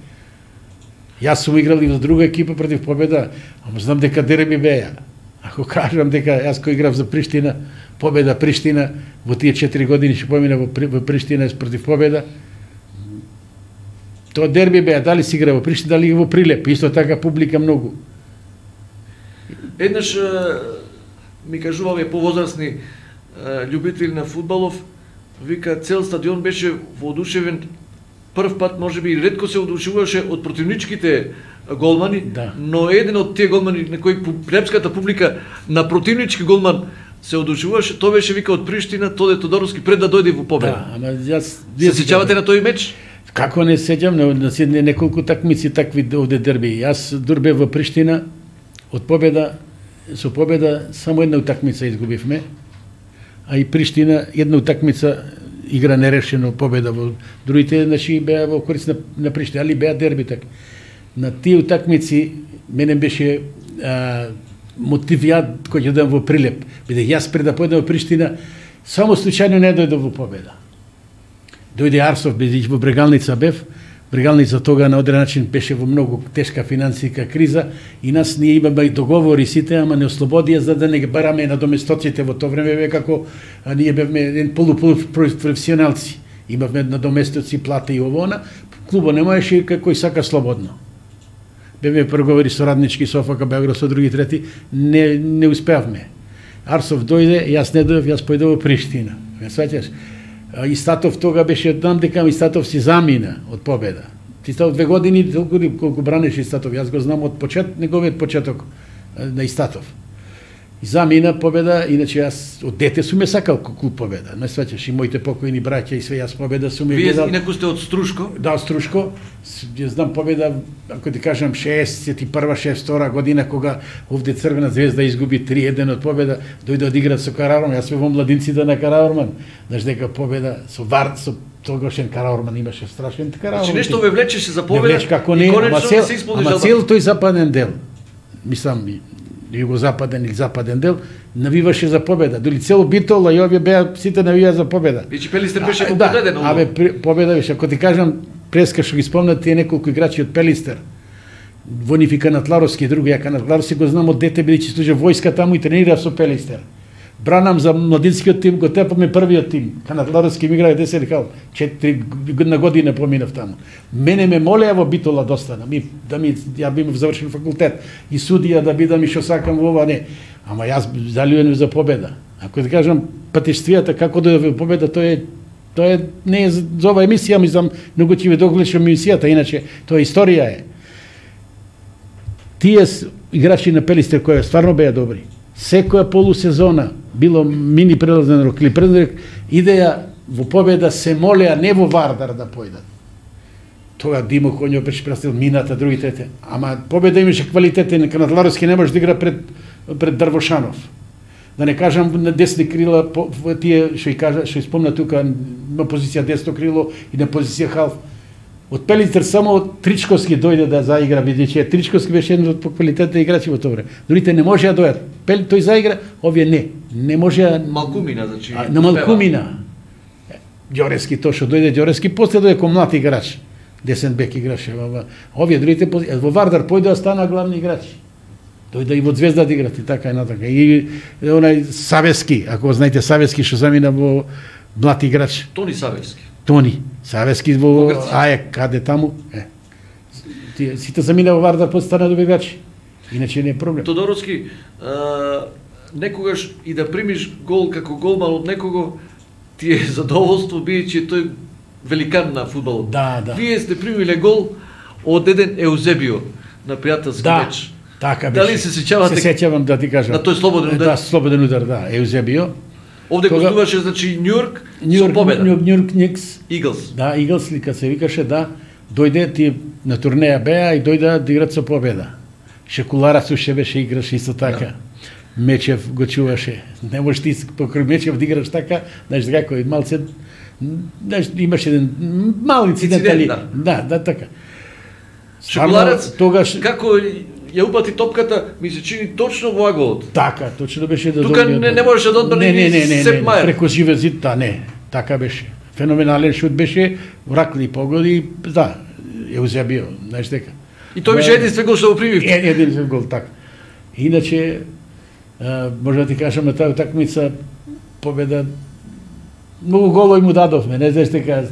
Јас сум играл и во друга екипа против Победа, ама знам дека дерби беа. Ако кажам дека јас кој играв за Приштина, Победа Приштина, во тие 4 години што помина во Приштина против Победа, тоа дерби беа, дали си игра во Приштина, дали во Прилеп, исто така публика многу. Еднаш ми кажувале повозрасни љубители на фудбалов, вика цел стадион беше воодушевен. Прв пат можеби ретко се одушевуваше од противничките голмани, но еден од тие голмани на кој плебската публика на противнички голман се одушевуваше, тоа беше вика од Приштина, Тоде Тодоровски пред да дојде во Победа. Да, ама јас се сеќавате на тој меч? Како не сеќам на неколку такмици такви овде дерби. Јас дурбе во Приштина од победа со победа само една утакмица изгубивме, а и Приштина една утакмица игра нерешено победа во другите, значи беа во корист на Приштина, али беа дерби така. На тие утакмици мене беше мотивијат кој ќе дам во Прилеп, бидејќи јас пред да појдам во Приштина само случајно не дојдов во победа. Дојде Арсов, бидејќи во Брегалница бев. Брегалница тога на одреден начин беше во многу тешка финансиска криза и нас ние имаме договори сите, ама не ослободија за да не ги бараме на доместоците во тоа време, бе како ние бевме еден полупрофесионалци. Имавме на доместоци плата и овона, клубо не можеше како и сака слободно. Бевме преговори со Раднички, Софака, Београд, со други трети, не успеавме. Арсов дојде, јас не дојдов, јас појдов во Приштина. Ме сваќаш? Истатов тога беше, знам дека Истатов си замина од победа. Истатов 2 години, колку бранеше Истатов, јас го знам од неговиот почеток на Истатов. И замина победа, иначе јас од дете сум ја сакал клуб победа. Не сваќаш, и моите покојни браќа и све, јас победа сум ја гледал. Вие инаку сте од Струшко? Да, од Струшко. Ја знам победа, ако ти кажам, 61-62 година, кога овде Црвена звезда изгуби 3-1 од победа, дојде од игра со Караорман. Јас во младинците на Караорман. Знаеш дека победа со тогашен Караорман имаше страшен Караорман. Значи нешто ве влечеше за победа. Не влече како не, ама цел тој западен дел. Мислам, југозападен или западен дел, навиваше за победа. Доли цело Битола и овие беа сите навија за победа. Вече Пелистер беше победен. Да, победа беше. Ако ти кажам, преска што ги спомнат тие неколку играчи од Пелистер, Вонифи Канатларовски, други, ја Канатларовски го знам од дете, бидејќи служи војска таму и тренира со Пелистер. Бранам за младинскиот тим, го тепаме првиот тим. Канатларовски ми играе Десен Хал. 4 година поминав таму. Мене ме молеа во Битола да останам. Ја бив завршен факултет и судија да бидам и што сакам во ова, не. Ама јас залюен за победа. Ако да кажам патештвијата како да во победа, тоа не е за ова емисија, мислам, многу ќе ви догледам емисијата, иначе тоа историја е. Тие играчи на Пелистер кои стварно беа добри. Секоја полусезона, било мини прелазен рок или прелазен рок, идеја во победа се молеа не во Вардар да појдат. Тога Димо Коњо беше престил мината, другите. Ама победа имаше квалитетен, Канатларовски не може да игра пред Дрвошанов. Да не кажам на десни крила, тие што спомна тука, на позиција десно крило и на позиција халф. Од Пелистер само Тричковски дојде да заигра, бидејќи Тричковски беше еден од квалитетните играчи во тоа време. Другите не можеа да дојдат. Тој заигра, овие не можеа. Малкумина, значи. На Малкумина. Ѓорески тоа што дојде Ѓорески, после дојде кој млад играч. Десен бек играше овие другите во Вардар појдоа стана главни играчи. Дојде и во Звезда да играт и така и натака. И онај Савески, ако знаете Савески што замина во млад играч. Тони Савески. Тони Савески во АЕК, каде таму. Сите замина во Вардар, после стана добри играчи. Иначе не е проблем. Тодоровски, некогаш и да примиш гол како голман од некого, ти е задоволство, бидејќи тој великан на фудбалот. Да. Вие сте примиле гол од еден Еузебио на пријателски меч. Така беше. Дали се сеќавате? Се сеќавам да ти кажам. На тој слободен удар? Да, слободен удар, да, Еузебио. Овде гостуваше, значи, Њујорк со победа. Њујорк Никс. Иглс. Да, Иглс, ли се викаше, да. Дојде, ти на турнеја беа и дојде да играт со победа. Шекулара суше беше играш исто така. Мечев го чуваше. Не можеш ти покрај Мечев да играш така, знаеш како и малце, знаеш, имаш еден мал инцидент, али да, така. Шекуларец тогаш како ја упати топката, ми се чини точно во аголот. Така, точно беше да тука не можеше да одбрани не, Сеп Мајер. Преку живе зид, да, не, така беше. Феноменален шут беше, вракли погоди, да, Еузебио, знаеш дека. И тој беше единствен гол што го прими. Единствен гол, така. Иначе, може да ти кажам на таа утакмица победа, многу голови му дадовме, не знаеш дека,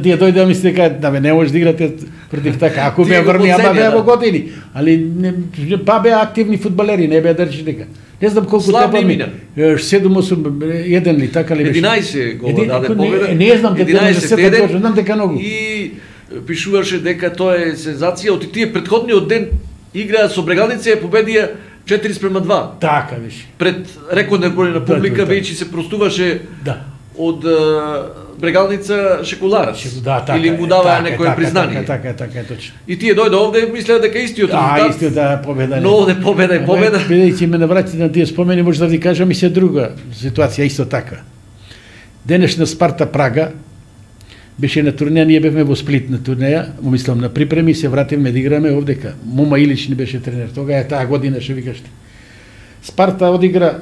тие дојде да мисли дека, да не можеш да играте против така, ако беа врни, ама беа во години, али па беа активни фудбалери, не беа држи дека. Не знам колку тепа ми, 7-8-1 ли, така ли беше? 11 гола даде победа. Не знам дека 10 точно, знам дека многу. И пишуваше дека тоа е сензација, од тие претходниот ден играа со Брегалница и победија 4:2. Така беше. Пред рекорден број на публика, бидејќи се простуваше од Брегалница Шекуларац. Да, така или му даваа некое признание. Така е точно. И тие дојде овде мислеа дека истиот резултат. Истиот победа. Но овде победа е победа. Бидејќи ме навратите на тие спомени, може да ви кажам и се друга ситуација исто така. Денешна Спарта Прага беше на турнеја, ние бевме во Сплит на турнеја, мислам на припреми, се вративме да играме овдека. Мома Илич не беше тренер, тога е таа година, што викаште. Спарта одигра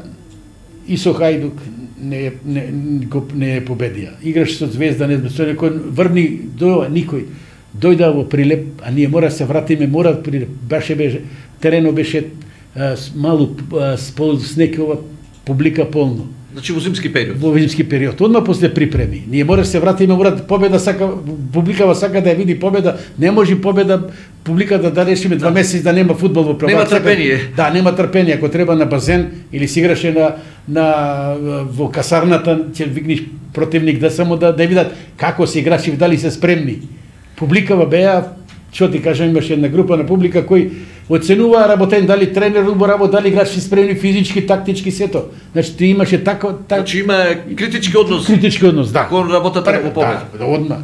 и со Хајдук, не е победија. Играш со Звезда, не знам, со некој врни до никој. Дојда во Прилеп, а ние мора се вратиме, мора Прилеп. Беше терено беше малу снекова публика полно. Значи во зимски период. Во зимски период. Одма после припреми. Ние мора се вратиме, мора победа сака, публикава сака да ја види победа. Не може победа публиката да решиме 2 месеци да нема фудбал во прва. Нема трпение. Да, нема трпение. Ако треба на базен или си играше во касарната, ќе викнеш противник да само да видат како се играчи, дали се спремни. Публикава беа, што ти кажам, имаше една група на публика кои оценуваа работен, дали тренер убаво работа, дали играчи спремни физички, тактички, сето. Значи ти имаше така. Значи има критички однос. Критички однос, да. Кон работата во победа. Да, одма.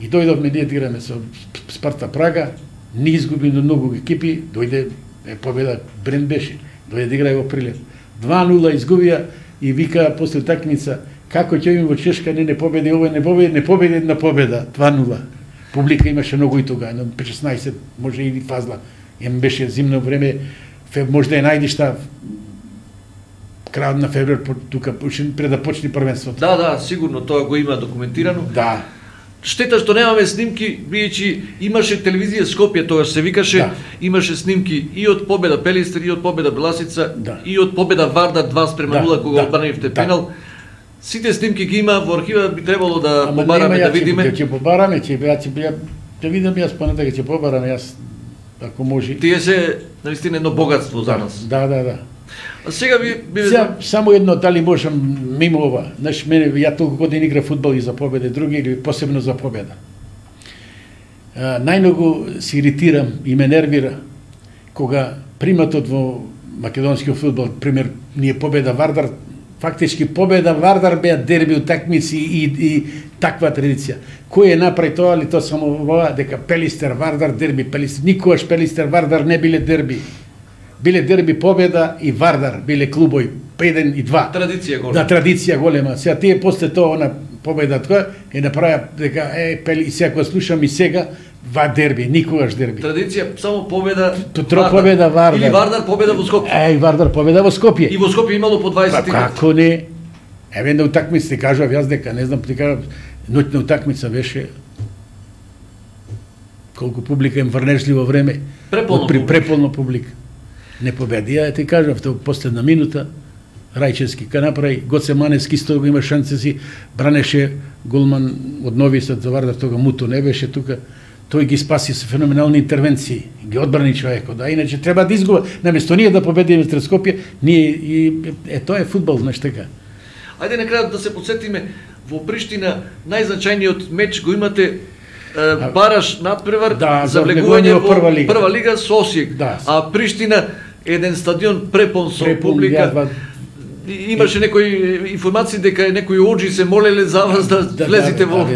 И дојдовме ние да играме со Спарта Прага, не изгуби до многу екипи, дојде победа, Брен беше, дојде да играе во Прилеп. 2-0 изгубија и вика после такмица, како ќе имаме во Чешка, не победи, ова не победи една победа, 2-0. Публика имаше многу и тога, 16, може и фазла. Беше зимно време, може да ја најдиш крајот на февруар, тука пред да почне првенството. Да, сигурно тоа го има документирано. Да. Штета што немаме снимки, бидејќи имаше телевизија Скопје, тогаш се викаше, имаше снимки и од победа Пелистер, и од победа Беласица, и од победа Вардар 2-0 кога одбранивте пенал. Сите снимки ги има во архива, би требало да побараме да видиме. Ќе побараме, ќе видам јас понатака, ќе побараме јас ако може. Тие се наистина едно богатство за нас. Да. А сега само едно, дали можам мимо ова. Знаеш, ја толку години игра фудбал и за победа, други или посебно за победа. Најмногу се иритирам и ме нервира кога приматот во македонскиот фудбал, пример, ние победа Вардар, фактички победа Вардар беа дерби утакмици и таква традиција. Кој направи тоа, али тоа само ова, дека Пелистер Вардар дерби, Пелистер, никогаш Пелистер Вардар не биле дерби. Биле дерби Победа и Вардар, биле клубови 1 и 2. Традиција голема. Да, традиција голема. Сега тие после тоа она Победа тоа е направија дека Пели, сега кога слушам и сега дерби, никогаш дерби. Традиција само Победа Победа Вардар. Или Вардар Победа во Скопје. Вардар Победа во Скопје. И во Скопје имало по 20 тикати. Како не? На утакмица ти кажав јас дека не знам, ти кажав, ноќна утакмица беше колку публика им врнежливо време. Преполно публика. Не победија, ти кажав, тоа последна минута, Рајчевски ка направи, Гоце Маневски исто го има шансе си, бранеше голман од Нови Сад за Вардар, тога Муто не беше тука, тој ги спаси со феноменални интервенции, ги одбрани човекот, да, иначе треба да изгуба, наместо ние да победиме сред Скопје, ние, тоа е фудбал, знаеш така. Ајде на крајот да се подсетиме, во Приштина најзначајниот меч го имате бараш надпревар за влегување во прва лига со Осијек, а Приштина еден стадион препон со публика. Имаше некои информации дека некои оџи се молеле за вас да влезете во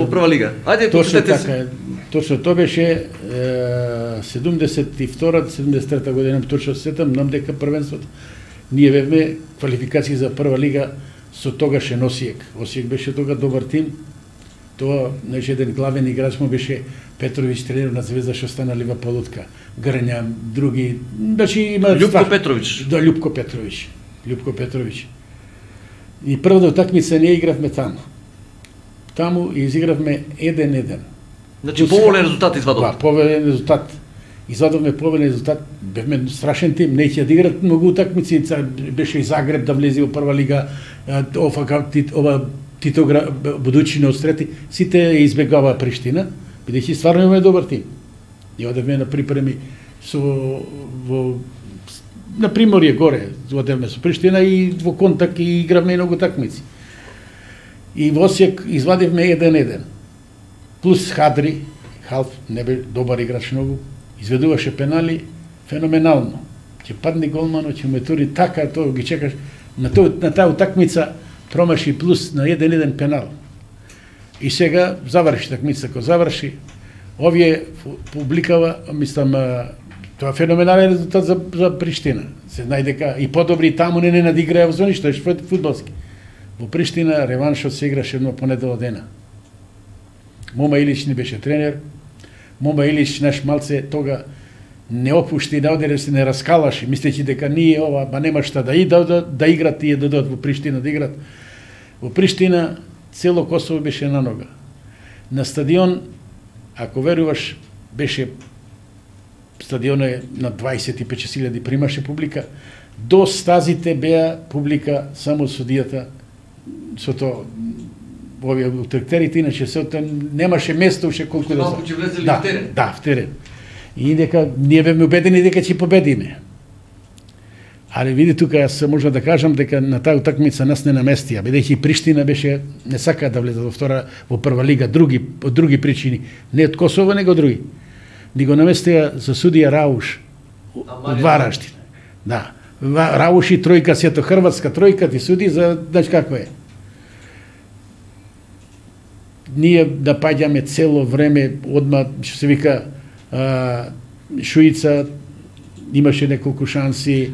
прва лига. Ајде, почнете се. Точно, тоа беше 72-73 година, точно сетам, нам дека првенството. Ние бевме квалификации за прва лига со тогашен Осијек. Осијек беше тога добар тим. Тоа, значи, еден главен играч му беше Петрович, тренер на Звезда, што стана лива полутка. Грња, други, значи има Љупко Петрович. Да, Љупко Петрович. И првата утакмица не игравме таму. Таму изигравме 1-1. Значи поволен резултат извадовме. Да, поволен резултат. Извадовме поволен резултат. Бевме страшен тим, не ќе да играат многу утакмици, беше и Загреб да влезе во прва лига, ова Титогра, Будучина од Стрети, сите избегаваа Приштина, бидејќи стварно имаме добар тим. И одевме на припреми на Приморје горе, одевме со Приштина и во контакт и игравме многу такмици. И во Осијек извадивме 1-1. Плюс Хадри, Халф, не бе добар играч многу, изведуваше пенали феноменално. Ќе падне голмано, ќе ме тури така, тоа ги чекаш. На таа утакмица промаши плюс на 1-1 пенал. И сега заврши такмица, кога заврши, овие публикава, мислам, тоа феноменален резултат за Приштина. Се знае дека и подобри таму не надиграја во ништо, фудбалски. Во Приштина реваншот се играше едно понедела дена. Мома Илич ни беше тренер. Мома Илич наш малце тога не опушти, не одере се, не раскалаше, мислејќи дека ние ова, ба нема шта да играт, тие да додат во Приштина да играт. Во Приштина цело Косово беше на нога. На стадион, ако веруваш, беше стадионот на 25.000 примаше публика. До стазите беа публика само судијата со тоа овие трактерите, иначе се немаше место уште колку да малку ќе влезеле в терен. Да, в терен. И дека ние беме убедени дека ќе победиме. Ali види тука, јас можам да кажам дека на таа утакмица нас не наместија, бидејќи Приштина беше не сака да влезе во прва лига, од други причини, не од Косово, него од други. Ни го наместија за судија Рауш од Вараштин. Да. Рауш и тројка, сето хрватска тројка ти суди за, знаеш како е. Ние да паѓаме цело време, одма, што се вика, Шуица имаше неколку шанси.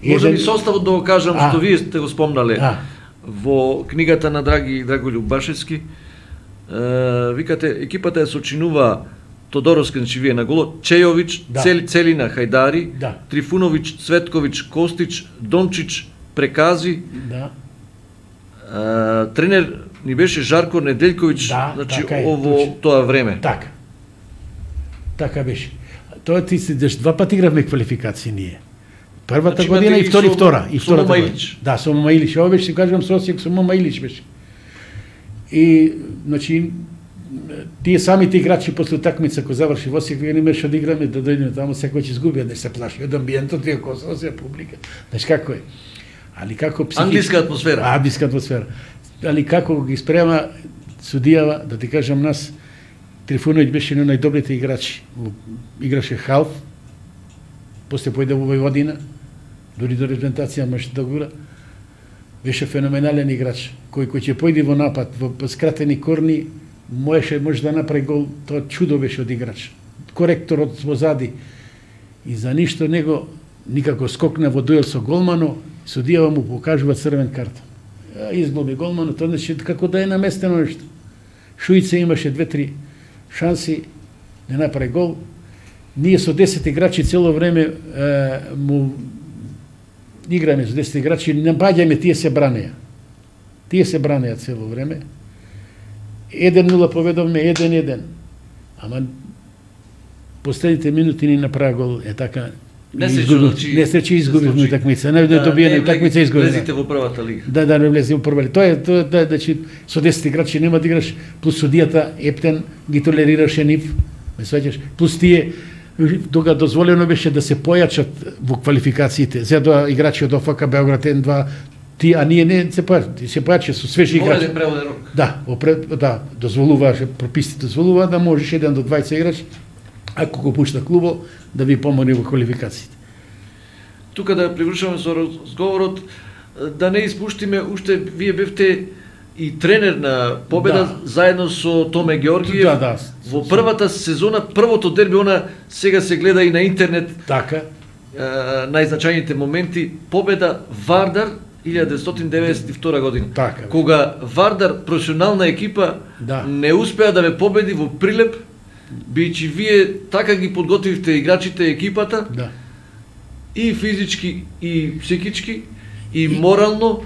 Може би составот да го кажам, што вие сте го спомнале во книгата на Драголюб Башевски. Викате, екипата ја сочинува Тодоров Кенчевије на голо, Чејовиќ, Целина Хајдари, Трифуновиќ, Цветковиќ, Костич, Дончич, Прекази. Тренер ни беше Жарко Неделјковиќ, значи ово тоа време. Така беше. Тоа ти се два пати игравме квалификации ние. Првата година и втора. Со Мома Илич. Да, со Мома Илич. Ова беше, кажам, со Осијак, со Мома Илич беше. И, значи, тие самите играчи после такмица кој заврши во Осијак, вие не имаше да играме, да дојдеме таму, секој ќе изгуби, не се плаши од амбиентот, тие Косово се публика. Знаеш како е? Али како англиска атмосфера. Англиска атмосфера. Али како ги спрема судијава, да ти кажам нас, Трифуновиќ беше еден од најдобрите играчи. Играше халф, после појде во Војводина, дури до репрезентација може да гура. Беше феноменален играч, кој ќе појде во напад, во скратени корни, може да направи гол, тоа чудо беше од играч. Коректор од возади. И за ништо него никако скокна во дуел со голмано, судијава му покажува црвен картон. Изглоби голмано, тоа значи како да е наместено нешто. Шуица имаше 2-3 шанси, не направи гол. Ние со 10 играчи цело време му играме со 10 играчи, не баѓаме, тие се бранеа. Тие се бранеа цело време. 1-0 поведовме, 1-1. Ама последните минути ни направи гол, е така. Несреќа изгубивме такмица, не добиеме такмица изгубивме. Влезите во првата лига. Да, не влезе во прва лига. Тоа е, значи, со 10 играчи нема да играш, плюс судијата Ептен ги толерираше нив, ме сваќаш, плюс тие тога дозволено беше да се појачат во квалификациите. Зедоа играчи од ОФК Београд 1-2, а ние не се појача со свежи играчи. Да, дозволуваше, прописите дозволува да можеш 1 до 20 играчи, ако го пушта клубо, да ви помогне во квалификациите. Тука да привршуваме со разговорот, да не испуштиме, уште вие бевте и тренер на Победа заедно со Томе Георгиев. Во првата сезона, првото дерби, она сега се гледа и на интернет. Така. Најзначајните моменти, Победа Вардар 1992 година. Така. Кога Вардар, професионална екипа, не успеа да ве победи во Прилеп, бијќи вие така ги подготвивте играчите, екипата, и физички, и психички, и морално,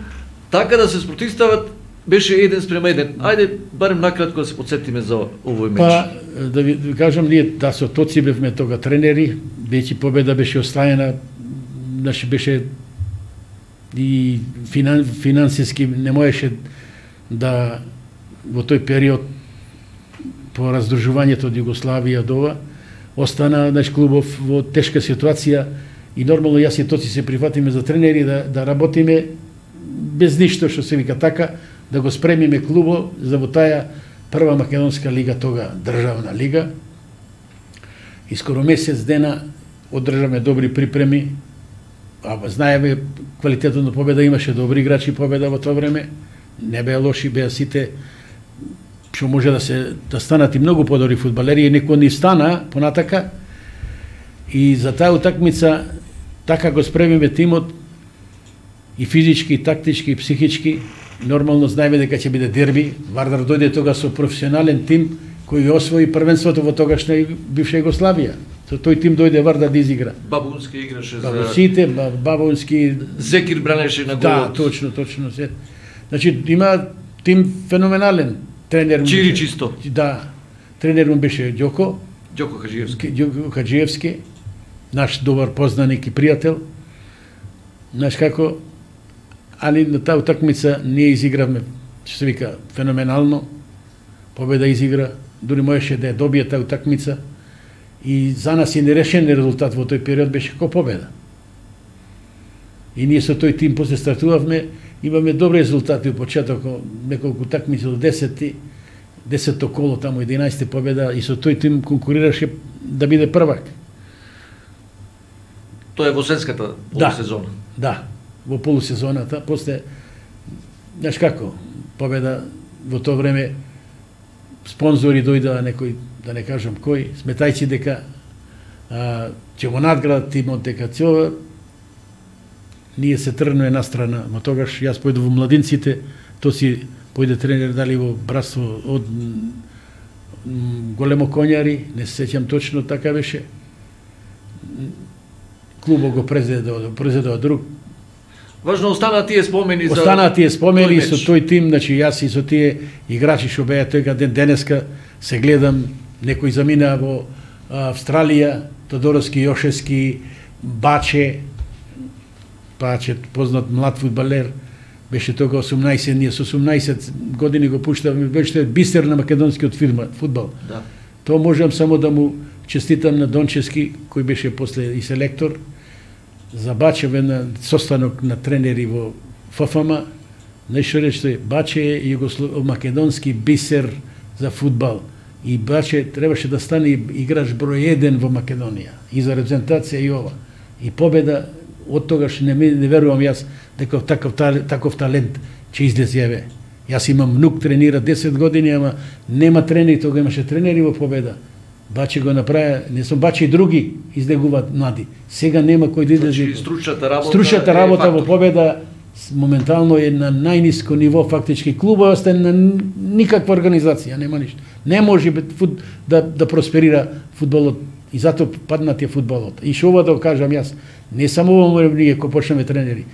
така да се спротивстават, беше 1:1. Ајде, барем накратко да се подсетиме за овој меч. Да ви кажам, ние со Тоци бевме тога тренери, веќе Победа беше оставена, значи беше и финансиски не можеше да во тој период по раздружувањето од Југославија до ова, остана наш клубов во тешка ситуација и нормално јас и Тоци се прифатиме за тренери да работиме без ништо што се вика така, да го спремиме клубо за во таа прва македонска лига, тога државна лига. И скоро месец дена одржаме добри припреми, знаеме квалитетот на Победа, имаше добри играчи Победа во тоа време, не беа лоши, беа сите што може да станат и многу подобри фудбалери, и некој ни стана понатака. И за таа утакмица така го спремиме тимот и физички, и тактички, и психички. Нормално знаеме дека ќе биде дерби. Вардар дојде тога со професионален тим кој освои првенството во тогашна бивша Југославија. Со тој тим дојде Вардар да изигра. Бабунски играше за... Сите, Бабунски... Зекир бранеше на Да, голот. точно. Значи, има тим феноменален. Тренер Чири чисто. Да. Тренер му беше Ѓоко Хаджиевски. наш добар познаник и пријател. Знаеш како, али на таа утакмица ние изигравме, што се вика, феноменално. Победа изигра, дури можеше да ја добие таа утакмица. И за нас е нерешен резултат во тој период беше како победа. И ние со тој тим после стартувавме, имаме добри резултати во почетокот, неколку утакмици до 10-то коло, таму 11 победа, и со тој тим конкурираше да биде првак. Тоа е во сенската полусезона. Да, во полусезоната, после, знаеш како, победа во тоа време, спонзори дојдоа некој, да не кажам кој, сметајќи дека ќе го надградат тимот, дека цела ние се тргнува една страна, но тогаш јас појду во младинците, то си појде тренер дали во братство од Големо Коњари, не се сеќам точно, така беше. Клубот го презедува друг. Важно останаа тие спомени за... Останаа тие спомени тој со меч. тој тим, значи јас и со тие играчи што беа тој ден денеска се гледам, некој замина во Австралија, Тодоровски, Јошевски, Баче, познат млад фудбалер, беше тога 18, ние со 18 години го пуштавме, беше бисер на македонскиот фудбал. Да. Тоа можам само да му честитам на Дончевски, кој беше после и селектор, за Баче на состанок на тренери во ФФМ, нешто рече, Баче е македонски бисер за фудбал. И Баче требаше да стане играч број 1 во Македонија. И за репрезентација и ова. И победа, од тогаш не верувам јас дека таков талент ќе излезе еве. Јас имам внук, тренира 10 години, ама нема тренери, тога имаше тренери во победа. Баче го направи, не сум Баче и други излегуваат млади. Сега нема кој да излезе. Значи, стручната работа во победа моментално е на најниско ниво, фактички клубот остане на никаква организација, нема ништо. Не може да просперира фудбалот и затоа паднатија фудбалот. И што ова да кажам јас, не само во ние кога почнеме тренери.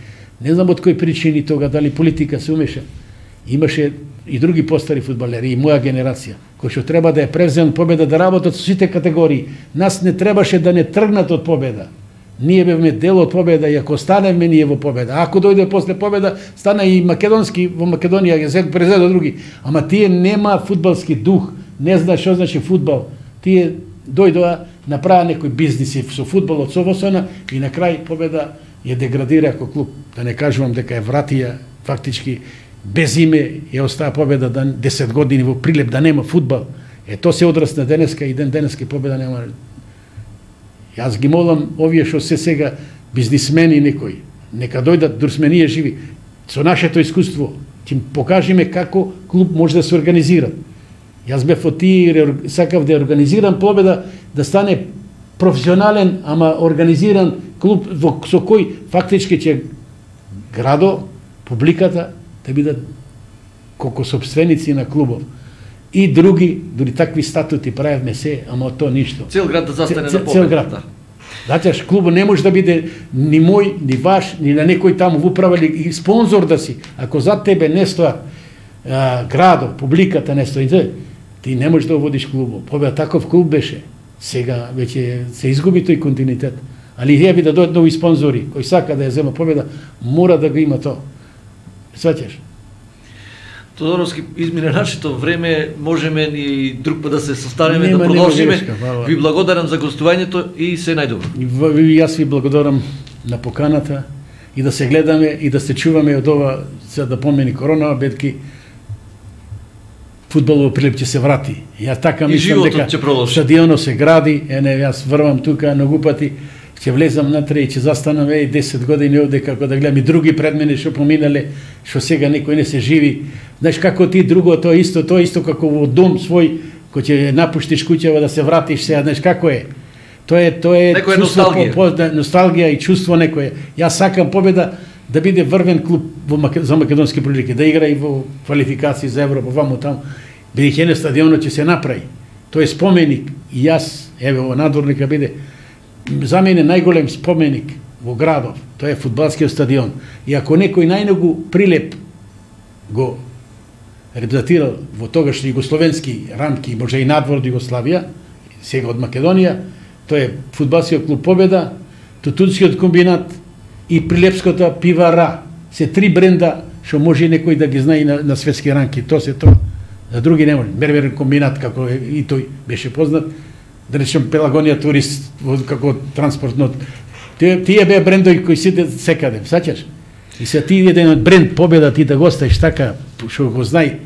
Не знам од кои причини тога, дали политика се умеша. Имаше и други постари фудбалери, и моја генерација, кои што треба да ја превземат победа, да работат со сите категории. Нас не требаше да не тргнат од победа. Ние бевме дел од победа и ако станеме ние во победа. Ако дојде после победа, стана и македонски во Македонија, ќе презеде други. Ама тие нема фудбалски дух, не знаат што значи фудбал. Тие дојдоа, направа некои бизниси со фудбалот, со Восона и на крај победа ја деградира како клуб. Да не кажувам дека е вратија фактички без име ја остаа победа 10 години во Прилеп да нема фудбал. Тоа се одрасна денеска и ден денеска победа нема. Јас ги молам овие што се сега бизнисмени некои, нека дојдат, дур сме ние живи, со нашето искуство, ќе им покажеме како клуб може да се организира. Јас бев од тие, сакав да организирам победа, да стане професионален, ама организиран клуб со кој фактички ќе градо, публиката, да бидат колку собственици на клубов. И други, дури такви статути правевме се, ама од тоа ништо. Цел град да застане на победа. Цел град. Значи, клубот не може да биде ни мој, ни ваш, ни на некој таму во управа или спонзор да си. Ако зад тебе не стоа градо, публиката не стои, ти не можеш да водиш клубот. Победа таков клуб беше. Сега веќе се изгуби тој континуитет. Али ја да дојдат нови спонзори, кој сака да ја зема победа, мора да го има тоа. Сваќаш? Тодоровски, измине нашето време, можеме и друг пат да се состанеме, да продолжиме. Ви благодарам за гостувањето и се најдобро. И јас ви благодарам на поканата и да се гледаме и да се чуваме од ова, сега да помени корона, бедки фудбалово Прилеп ќе се врати. Ја така мислам дека стадионот се гради, јас врвам тука многу пати, ќе влезам натре и ќе застанам 10 години овде како да гледам и други пред мене што поминале, што сега некој не се живи. Знаеш како ти друго тоа исто како во дом свој, кој ќе напуштиш куќава да се вратиш сега, знаеш како е. Тоа е чувство носталгија и чувство некое. Јас сакам Победа да биде врвен клуб за македонски прилики, да игра и во квалификации за Европа, ваму таму. Бидејќи на стадионот ќе се направи. Тоа е споменик и јас, еве во надворника биде за мене најголем споменик во градов, тоа е фудбалскиот стадион. И ако некој најногу прилеп го репрезентирал во тогашни југословенски рамки, може и надвор од Југославија, сега од Македонија, тоа е фудбалскиот клуб Победа, Тутунскиот комбинат и Прилепската пивара. Се 3 бренда што може некој да ги знае на светски ранки. Тоа се тоа. За други не може. Мерверен комбинат, како и тој беше познат, да речем Пелагонија турист како транспортно. Тие беа брендови кои сите секаде, саќаш? И се ти еден од бренд Победа ти да го оставиш така што го знај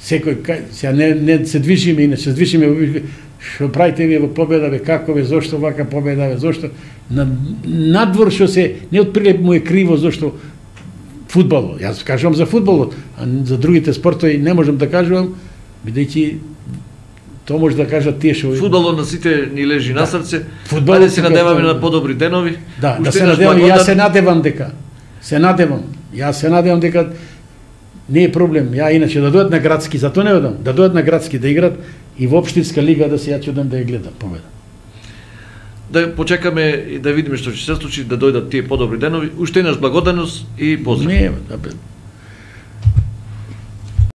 секој сега не се движиме и не се движиме што правите вие во Победа, бе како бе, зошто вака Победа, бе зошто надвор што се не од прилеп му е криво зошто фудбалот. Јас кажувам за фудбалот, а за другите спортови не можам да кажувам, бидејќи тоа може да кажат тие што фудбалот на сите ни лежи на срце. Ајде се надеваме на подобри денови. Да, да се надевам, јас се надевам дека Јас се надевам дека не е проблем. Ја иначе да дојдат на градски, затоа не одам, да дојдат на градски да играт и во општинска лига да се ја чудам да ја гледам Победа. Да почекаме и да видиме што ќе се случи, да дојдат тие подобри денови. Уште еднаш благодарност и поздрав. Не,